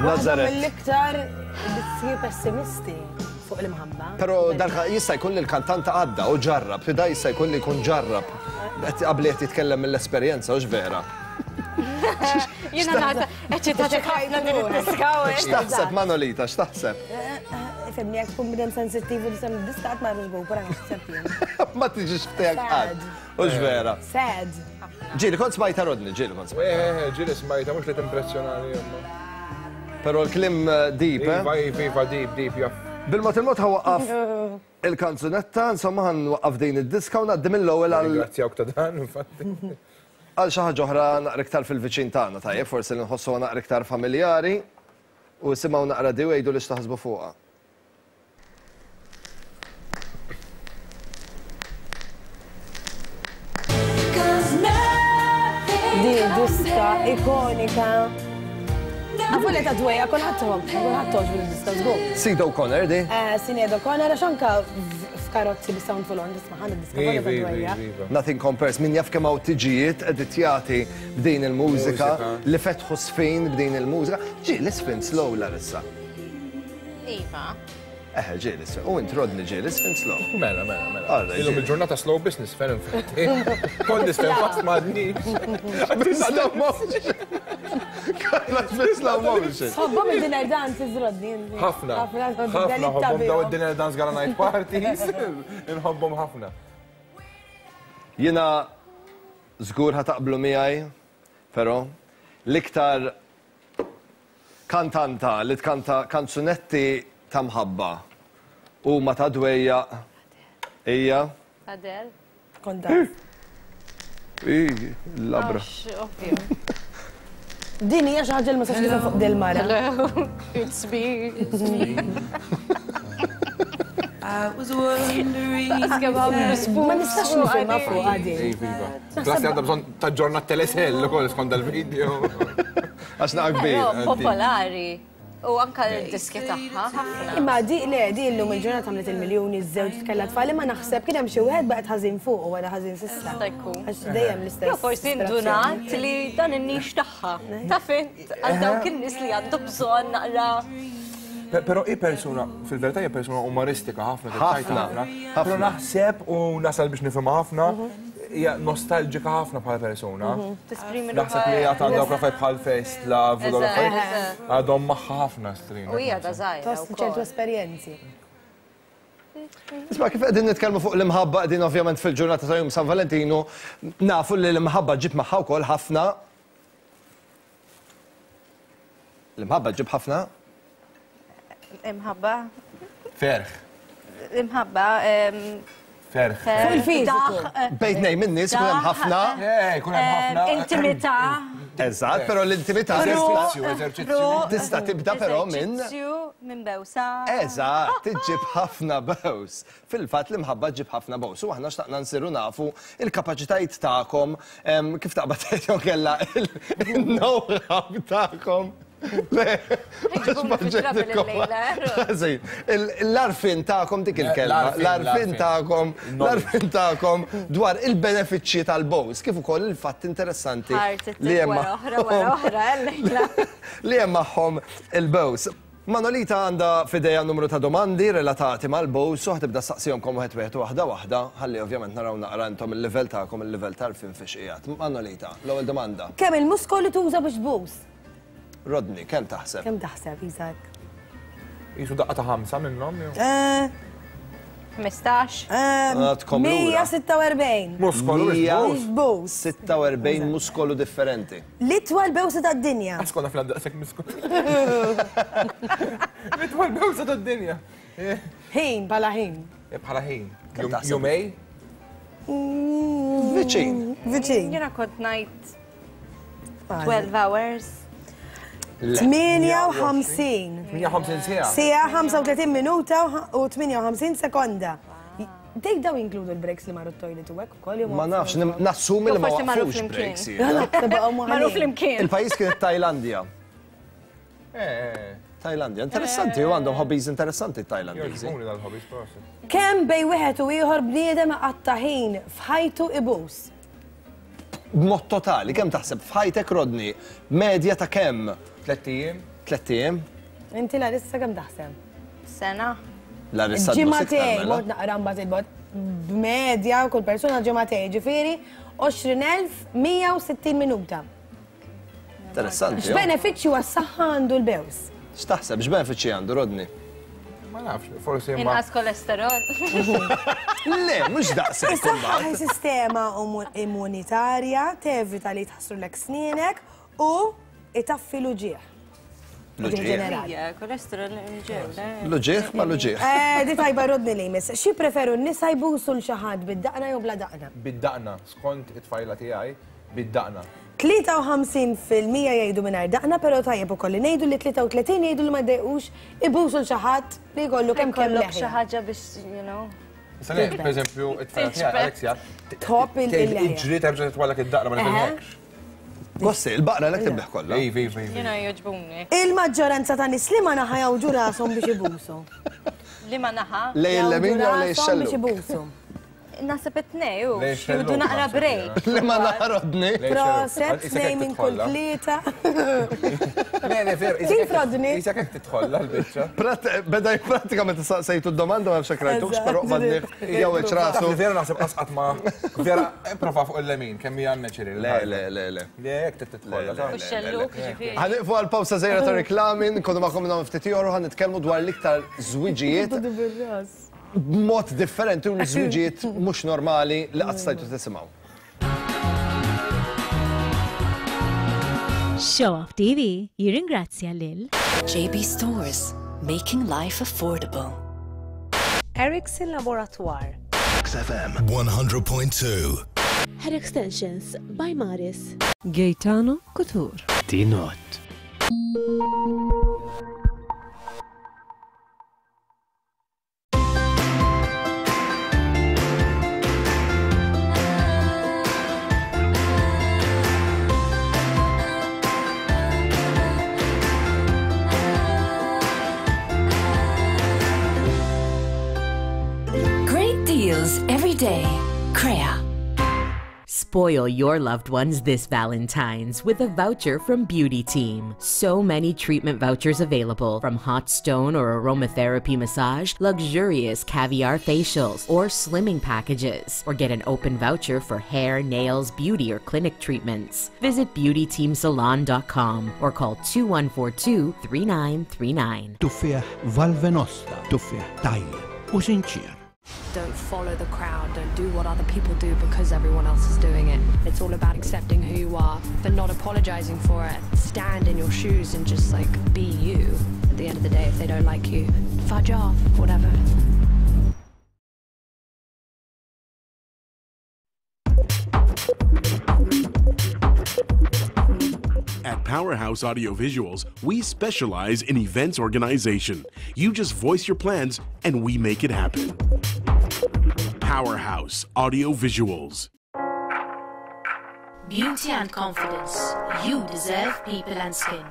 Nazaret. Mill-iktar diski pessimisti fuq l-imħabba. Però dan jista' jkun li l-kantanta għadda u ġarrab, da jista' jkun li jkun ġarrab. Qabli qed jitkellem mill-esperjenza, hux vera? Jiena nagħta eċitatek ħafna din id-diska. X'taħseb Manolita, x'taħseb? Ifhimni jekk tkun bnedem sensittiv u tisem id-diska qatt ma jagħmilx bopera naħseb jien. Ma tiġix f'tiegħek qatt. Hux vera? Sad. Ġieli kont smajta Rodney, ġieli kont smajta. Eh, eh, ġieli smajta, mhux li timpressjonani imma. Però l-kliem eh, deep, eh? Iva, iva, iva, deep, deep, jaf. Bil-mod il-mod ħawaqqaf il-kanzunetta, insomma ħan waqqaf din id-diska u ngħaddi mill-ewwel għal. Ringrazzjawk ta' dan, infatti. Għal xi ħaġa oħra naqra iktar fil-viċin tagħna, tajjeb, forsi li nħossuha naqra iktar familjari u simgħu naqra di u għidu li x'taħsbu fuqha. Di diska ikonika. Għafu li ta' dwejja, kulħadd tħobb, kulħadd toġbu l-diska żgur. Sid O'Connor di? Eh, Sinead O'Connor għax anka f'karozzi bi sound full on tisma' ħan id-diska kollha ta' dwejja. Nothing compares, min jaf kemm hawn tiġijiet editjati b'din il-mużika li fetħu sfin b'din il-mużika. Ġi, l-isfin slow Larissa. Iva. Eħe, ġieli, u int Rodney ġieli sfin slow. Mela, mela, mela. Illum il-ġurnata slow business ferm infatti. Kont nisfen fast ma għadnix. Slow motion. Konna slow motion. Tħobbhom il-dinner dances, Rodney. Ħafna. Ħafna ħobbhom daw id-dinner dance gala night parties. Inħobbhom ħafna. Jiena żgur ħa taqblu miegħi, però l-iktar Kantanta li tkanta kanzunetti ta' mħabba huma ta' dwejjaq hija. Adele. Kont taf. Ih, labra. Għax, ovvju. Din hija xi ħaġa li ma sax nifhem fuq dil mara. Hello, it's me. It's me. Ma nistax nifhimha fuq din. Iva. Klassi għandha bżonn taġġorna t-telesell ukoll skont dal-video. Għax naqa kbir. Popolari. U anka l-diski tagħha ħafna. Imma di le di llum il-ġurnata għamlet il-miljuni żewġ tkella tfal imma naħseb kien hemm xi wieħed baqgħet ħażin fuq u wara ħażin s'issa. Jista' jkun. Għax dejjem l-istess. Jew forsi indunat li dan in-nix tagħha. Taf int għal dawk in-nies li għandu bżonn naqra. Però hi persuna, fil-verità hija persuna umoristika ħafna, Ħafna. Però naħseb u nasal biex nifhimha ħafna, hija nostalġika ħafna bħala persuna. Tesprimi Naħseb li għad għandha affarijiet bħal first love u dawn l-affarijiet. Għadhom magħha ħafna strina. U hija da żgħira. Toss ċertu esperjenzi. Isma' kif qegħdin nitkellmu fuq l-imħabba qegħdin ovvjament fil-ġurnata ta' jum San Valentinu, nafu li l-imħabba ġib magħha wkoll ħafna L-imħabba ġib ħafna Imħabba. Ferħ. Imħabba. Ferħ. Fuq il-fiżiku. Bejn tnejn min-nies ikun hemm ħafna. Ikun hemm ħafna. Intimità. Eżatt, però l-intimità Eżerċizzju, eżerċizzju. Tista' tibda però minn. Eżerċizzju minn bewsa. Eżatt, iġġib ħafna bews. Fil-fatt l-imħabba ġġib ħafna bews. U aħna xtaqna nsiru nafu il-kapaċitajiet tagħkom kif taqbad tgħid jew kellha il-know-how tagħkom. Le, l-għarfien tagħkom dik il-kelma, l-għarfien tagħkom, l-għarfien tagħkom dwar il-benefiċċji tal-bows, kif ukoll il-fatt interessanti li hemm li hemm magħhom il-bows. Manolita għandha f'idejha numru ta' domandi relatati mal-bows u ħa tibda ssaqsihomkom wieħed wieħed u waħda waħda ħalli ovvjament naraw naqra intom il-livell tagħkom, il-livell t'għarfien fiex qiegħed. Manolita, l-ewwel domanda. Kemm il-muskoli tuża biex tbus? Rodney, kemm taħseb? Kemm taħseb, Isaac? Jisu daqqa ta' ħamsa minnhom jew? 15. Għadkom lura. 146. Muskolu biex tbus. 146 muskolu differenti. L-itwal bewsa tad-dinja. Għax konna fl-daqshekk muskolu. L-itwal bewsa tad-dinja. Ħin, bħala ħin. Bħala ħin. Jumej? Viċin. Viċin. Jiena kont ngħid 12 hours. 58. 58 siegħa. Siegħa 35 minuta u 58 sekonda. Dejk daw jinkludu l-breaks li marru t-toilet u hekk ukoll jew Ma nafx, nassumi li ma waqfux breaks. Marru flimkien. Il-pajjiż kien it-Tajlandja. Tajlandja, interessanti, u għandhom hobbies interessanti t-Tajlandiżi. Kemm bej wieħed u ieħor bniedem iqatta' ħin f'ħajtu ibus? B'mod totali, kemm taħseb f'ħajtek Rodney, medja ta' kemm? Tlett ijiem. Tlett ijiem? Inti Larissa kemm taħseb? Sena. Larissa tbus iktar Ġimagħtejn, mela. mort naqra mbagħad il-bogħod. B'medja kull persuna ġimagħtejn, ġifieri 20,160 minuta. Interessanti. X'benefiċċju għas-saħħa għandu l-bews? X'taħseb, x'benefiċċji għandu Rodney? Ma nafx, forsi ma. Inqas kolesterol. Le, mhux daqshekk. Is-saħħa hi sistema immunitarja, tevita li jitħassrulek snienek u itaffi l-uġigħ. L-uġigħ. Kolesterol ġew. L-uġigħ ma l-uġigħ. Di tajba Rodney li jmiss. Xi preferu n-nisa jbusu l xi ħadd bid-daqna jew bla daqna? Bid-daqna, skont it-tfajla tiegħi, bid-daqna. 53% jgħidu mingħajr daqna, però tajjeb ukoll li ngħidu li 33 jgħidu li ma jdejqux ibusu l xi ħadd li jkollu kemm kemm Jkollok xi leħja. ħaġa biex, you know. Issa le, per eżempju, it-tfajla tiegħi, Alexia, Tħobb il-leħja. Iġri terġa' titwallek id-daqna ma nifhimx. Gossi, il-baqra l tibbeħ kollha. Iva, iva, iva. Jiena jogħġbuni. Il-maġġoranza ta' nies liema naħa jgħawġu rashom biex ibusu. Liema naħa? Lej il-lemin jew lej Jgħawġu rashom biex ix-xellug? ibusu. Naħseb it-tnej, u. Lej ix-xellug, Jieħdu naqra naħseb break. Liema naħa Rodney? Proset, tnej minn kull tlieta. Le, le, vera. Kif Rodney? Isek hekk titħolla l-biċċa. Beda jippratika meta saqsejtu d-domanda ma nafx hekk rajtux, però qbadni jew rasu. Vera naħseb qasqat ma. Vera, prova fuq il-lemin, kemm hija natural. Le, le, le, le. Le, hekk titħolla. U x-xellug, ġifieri. Ħa nieqfu għal pawsa żgħira ta' reklami, nkunu magħkom minn hawn ftit ieħor u ħa nitkellmu dwar l-iktar żwiġijiet b'mod differenti u l-żwiġijiet mhux normali li qatt stajtu tisimgħu. Show Off TV jirringrazzja lil JB Stores, making life affordable. Ericsson Laboratoire. XFM 100.2. Hair Extensions by Maris. Gaetano Couture. Dinot. Great deals every day. Crea. Spoil your loved ones this Valentine's with a voucher from Beauty Team. So many treatment vouchers available from hot stone or aromatherapy massage, luxurious caviar facials, or slimming packages. Or get an open voucher for hair, nails, beauty, or clinic treatments. Visit beautyteamsalon.com or call 2142 3939. Tuffieħ Valve Nosta, tuffieħ tajjeb u sinċier. Don't follow the crowd, don't do what other people do because everyone else is doing it. It's all about accepting who you are, but not apologizing for it. Stand in your shoes and just like be you. At the end of the day, if they don't like you, fudge off, whatever. At Powerhouse Audiovisuals, we specialize in events organization. You just voice your plans and we make it happen. Powerhouse Audiovisuals. Beauty and confidence. You deserve people and skin.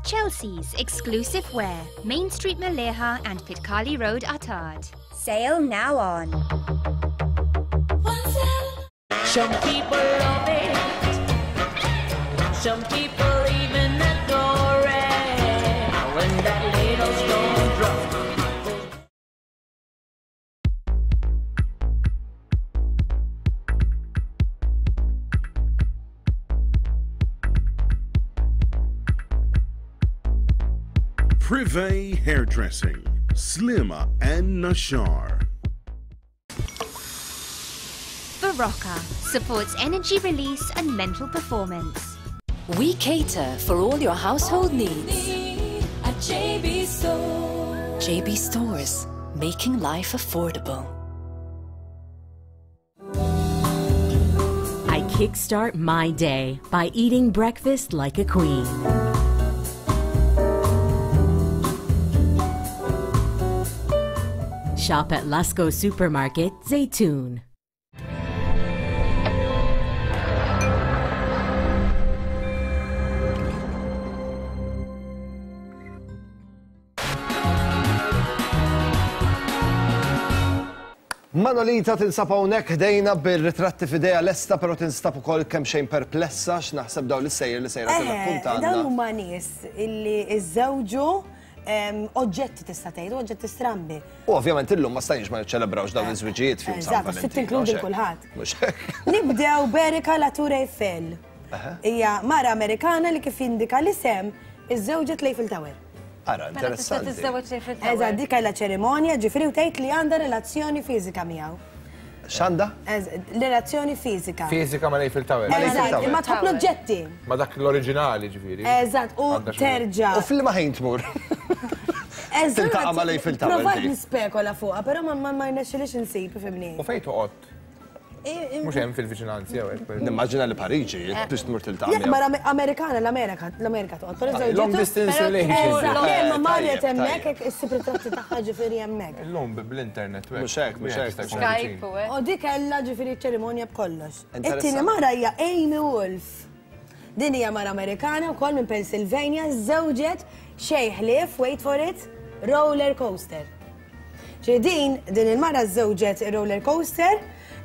Chelsea's exclusive wear, Main Street Maleha and Pitkali Road, Attard. Sale now on. Some people love it. Some people even adore it. When that little stone drop. Privé Hairdressing, Slimma and Nashar. Barocca supports energy release and mental performance. We cater for all your household needs. At JB Store. JB Stores, making life affordable. I kickstart my day by eating breakfast like a queen. Shop at Lasco Supermarket, Zaytoon. Manolita tinsab hawnhekk ħdejna bir-ritratti f'idejha lesta però tinstab ukoll kemxejn perplessa x'naħseb dawn l-istejjer li sejra tirrakkuntalna. Dawn huma nies illi żżewġu oġġetti tista' tgħid, oġġetti strambi. U ovvjament illum ma stajniex ma niċċelebrawx dawn iż-żwiġijiet f'jum San Eżatt, trid tinkludi kulħadd. Nibdew b'Erika Latour Eiffel. Hija mara Amerikana li kif jindika l-isem iżżewġet l-Eiffel Tower. Ara, Mela tista' interessanti. tiżżewweġ Eiffel Tower. Eżatt, dik kellha ċerimonja, ġifieri u tgħid li għandha relazzjoni fiżika miegħu. X'għandha? Relazzjoni fiżika. Fiżika ma' Eiffel Tower. Eżatt, imma tħobb l-oġġetti. Ma dak l-oriġinali ġifieri. Eżatt, u terġa'. U f'liema ħin tmur? Eżatt. Tiltaqa' ma' Eiffel Tower Provajt dik. nispekola fuqha, però ma ma rnexxilix insib, ifhimni. U fejn toqgħod? Mhux hemm fil-viċinanzi jew hekk. Nimmaġina li Pariġi, biex tmur tiltaqa' Jekk mara Amerikana l-Amerika, l-Amerika toqgħod, però żewġ. Long distance relationship. Eżatt, le, ma marret Tajjeb, hemmhekk tajjeb. hekk issib ritratti tagħha ġifieri hemmhekk. Illum bl-internet. Mhux hekk, mhux hekk. Skype u hekk. U dik kellha ġifieri ċerimonja b'kollox. Interessanti. It-tieni mara hija Amy Wolf. Din hija mara Amerikana wkoll minn Pennsylvania, żewġet xejn ħlief, wait for it, roller coaster. Ġi din, din il-mara żewġet roller coaster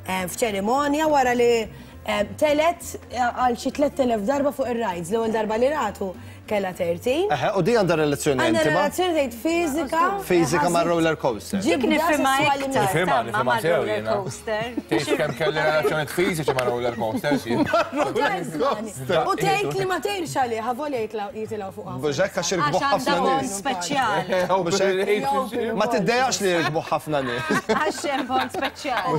eh, f'ċerimonja wara li eh, telet eh, għal xi 3000 darba fuq ir-rides. L-ewwel darba li ratu kellha 13. Eħe, u di għandha relazzjoni Għandha intima? relazzjoni tgħid fiżika. Fiżika ma' roller coaster. Ġibda Nifhimha sesswali iktar. Nifhimha, ma' nifhimha sew roller jiena. coaster. Tgħid kemm kelli relazzjonijiet fiżiċi ma' roller coasters jien. U tgħid li ma tgħirx għalih, ħavolja jitilgħu fuqha. Mhux hekk għax jirkbu Għax għandha ħafna bond nies. speċjali. Mhux hekk? Ma tiddejaqx li jirkbu ħafna nies. Għax hemm bond speċjali.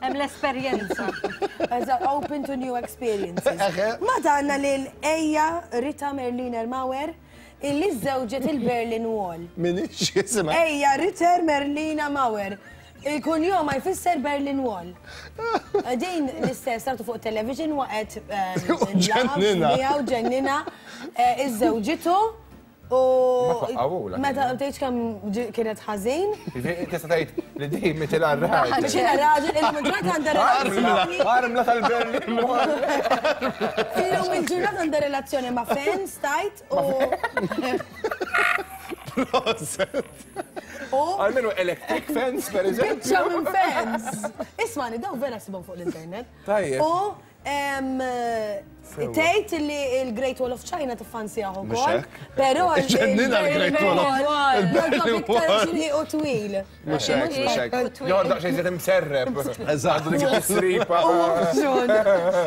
Hemm l-esperjenza. Eżatt, open to new experiences. Ma danna lil Ejja Rita Merliner Mauer illi żewġet il-Berlin Wall. Minix jisimha. Ejja Rita Merlina Mauer. Il-kunjom ma jfisser Berlin Wall. Din l-istess sartu fuq television waqgħet Ġennina. miegħu ġennina eh, iż-żewġitu u Ma twaqqawulha meta tgħidx kemm ġi- kienet ħażin. Ġifieri Tista' tgħid li di mitilha r-raġel. Biex il raġel illum il-ġurnata għandha relazzjoni. Armla tal-Berlin Wall. Illum il-ġurnata għandha relazzjoni ma' fans tajt u. Proset. U Almenu electric fence, per eżempju. Biċċa minn fence. Ismani, daw vera sibhom fuq l-internet. Tajjeb. U tgħid li l-Great Wall of China tiffansjah ukoll. Però Ġennina l-Great Wall of il-Berlin Wall. U twil. Mhux hekk, mhux hekk. Jew daqsxejn żied imserreb. Eżatt. Għandu dik it-tisripa.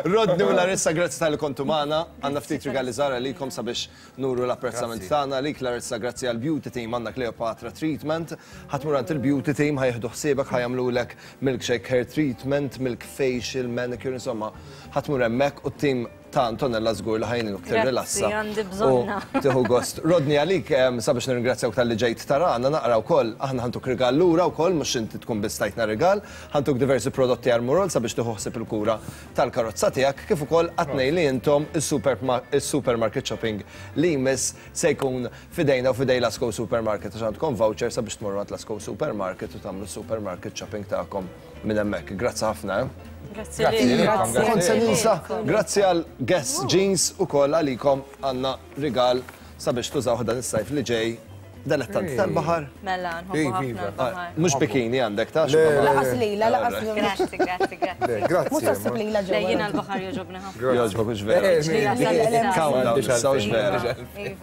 Rodney u Larissa, grazzi talli kontu magħna. Għandna ftit rigali żgħar għalikom sabiex nuru l-apprezzament tagħna għalik Larissa grazzi għall beauty team għandna Cleopatra treatment. Ħa tmur għand il-beauty team ħa jieħdu ħsiebek ħa jagħmlulek milkshake hair treatment, milk facial, manicure, insomma ħa tmur hemmhekk u t-team ta' Antonella żgur li ħa jgħinuk tirrilassa. Grazzi, għandi bżonnha. U tieħu gost. Rodney għalik sabiex nirringrazzjawk talli ġejt tarana naqra wkoll aħna ħa ntuk rigal lura wkoll mhux inti tkun biss tajtna rigal, ħa ntuk diversi prodotti Armorol sabiex tieħu ħsieb il-kura tal-karozza tiegħek kif ukoll għat-tnejn li intom is-supermarket shopping li jmiss se jkun f'idejna u f'idej Lasco Supermarket għax għandkom voucher sabiex tmorru għand Lasco Supermarket u tagħmlu s-supermarket shopping tagħkom minn hemmhekk. Grazzi ħafna, eh? Grazzi lilkom. Kont se ninsa, grazzi għal Guess Jeans ukoll għalikom għandna rigal sabiex tużawh dan is-sajf li ġej Delettant tal-baħar. Mela, nħobbu ħafna l-baħar. Mhux bikini għandek, ta' Laqas lila, laqas lila. Grazzi, grazzi, grazzi. Grazzi. Mhux taħseb lila ġewwa. Le, jiena l-baħar jogħġobni ħafna. Jogħġbok hux vera. Countdown, issa hux vera.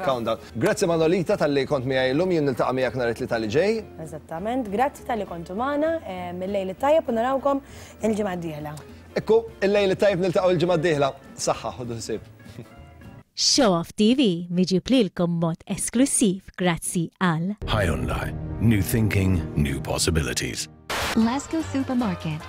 Countdown. Grazzi Manolita talli kont miegħi llum, jien niltaqa' miegħek nhar it-Tlieta li ġej. Eżattament, grazzi talli kontu magħna, il-lejl it-tajjeb u narawkom il-ġimgħa d-dieħla. Ekku, il-lejl it-tajjeb niltaqgħu l-ġimgħa d-dieħla. Saħħa, ħudu ħsieb. Show Off TV miġjub lilkom b'mod esklussiv grazzi għal. Hyundai, new thinking, new possibilities. Lasco Supermarket.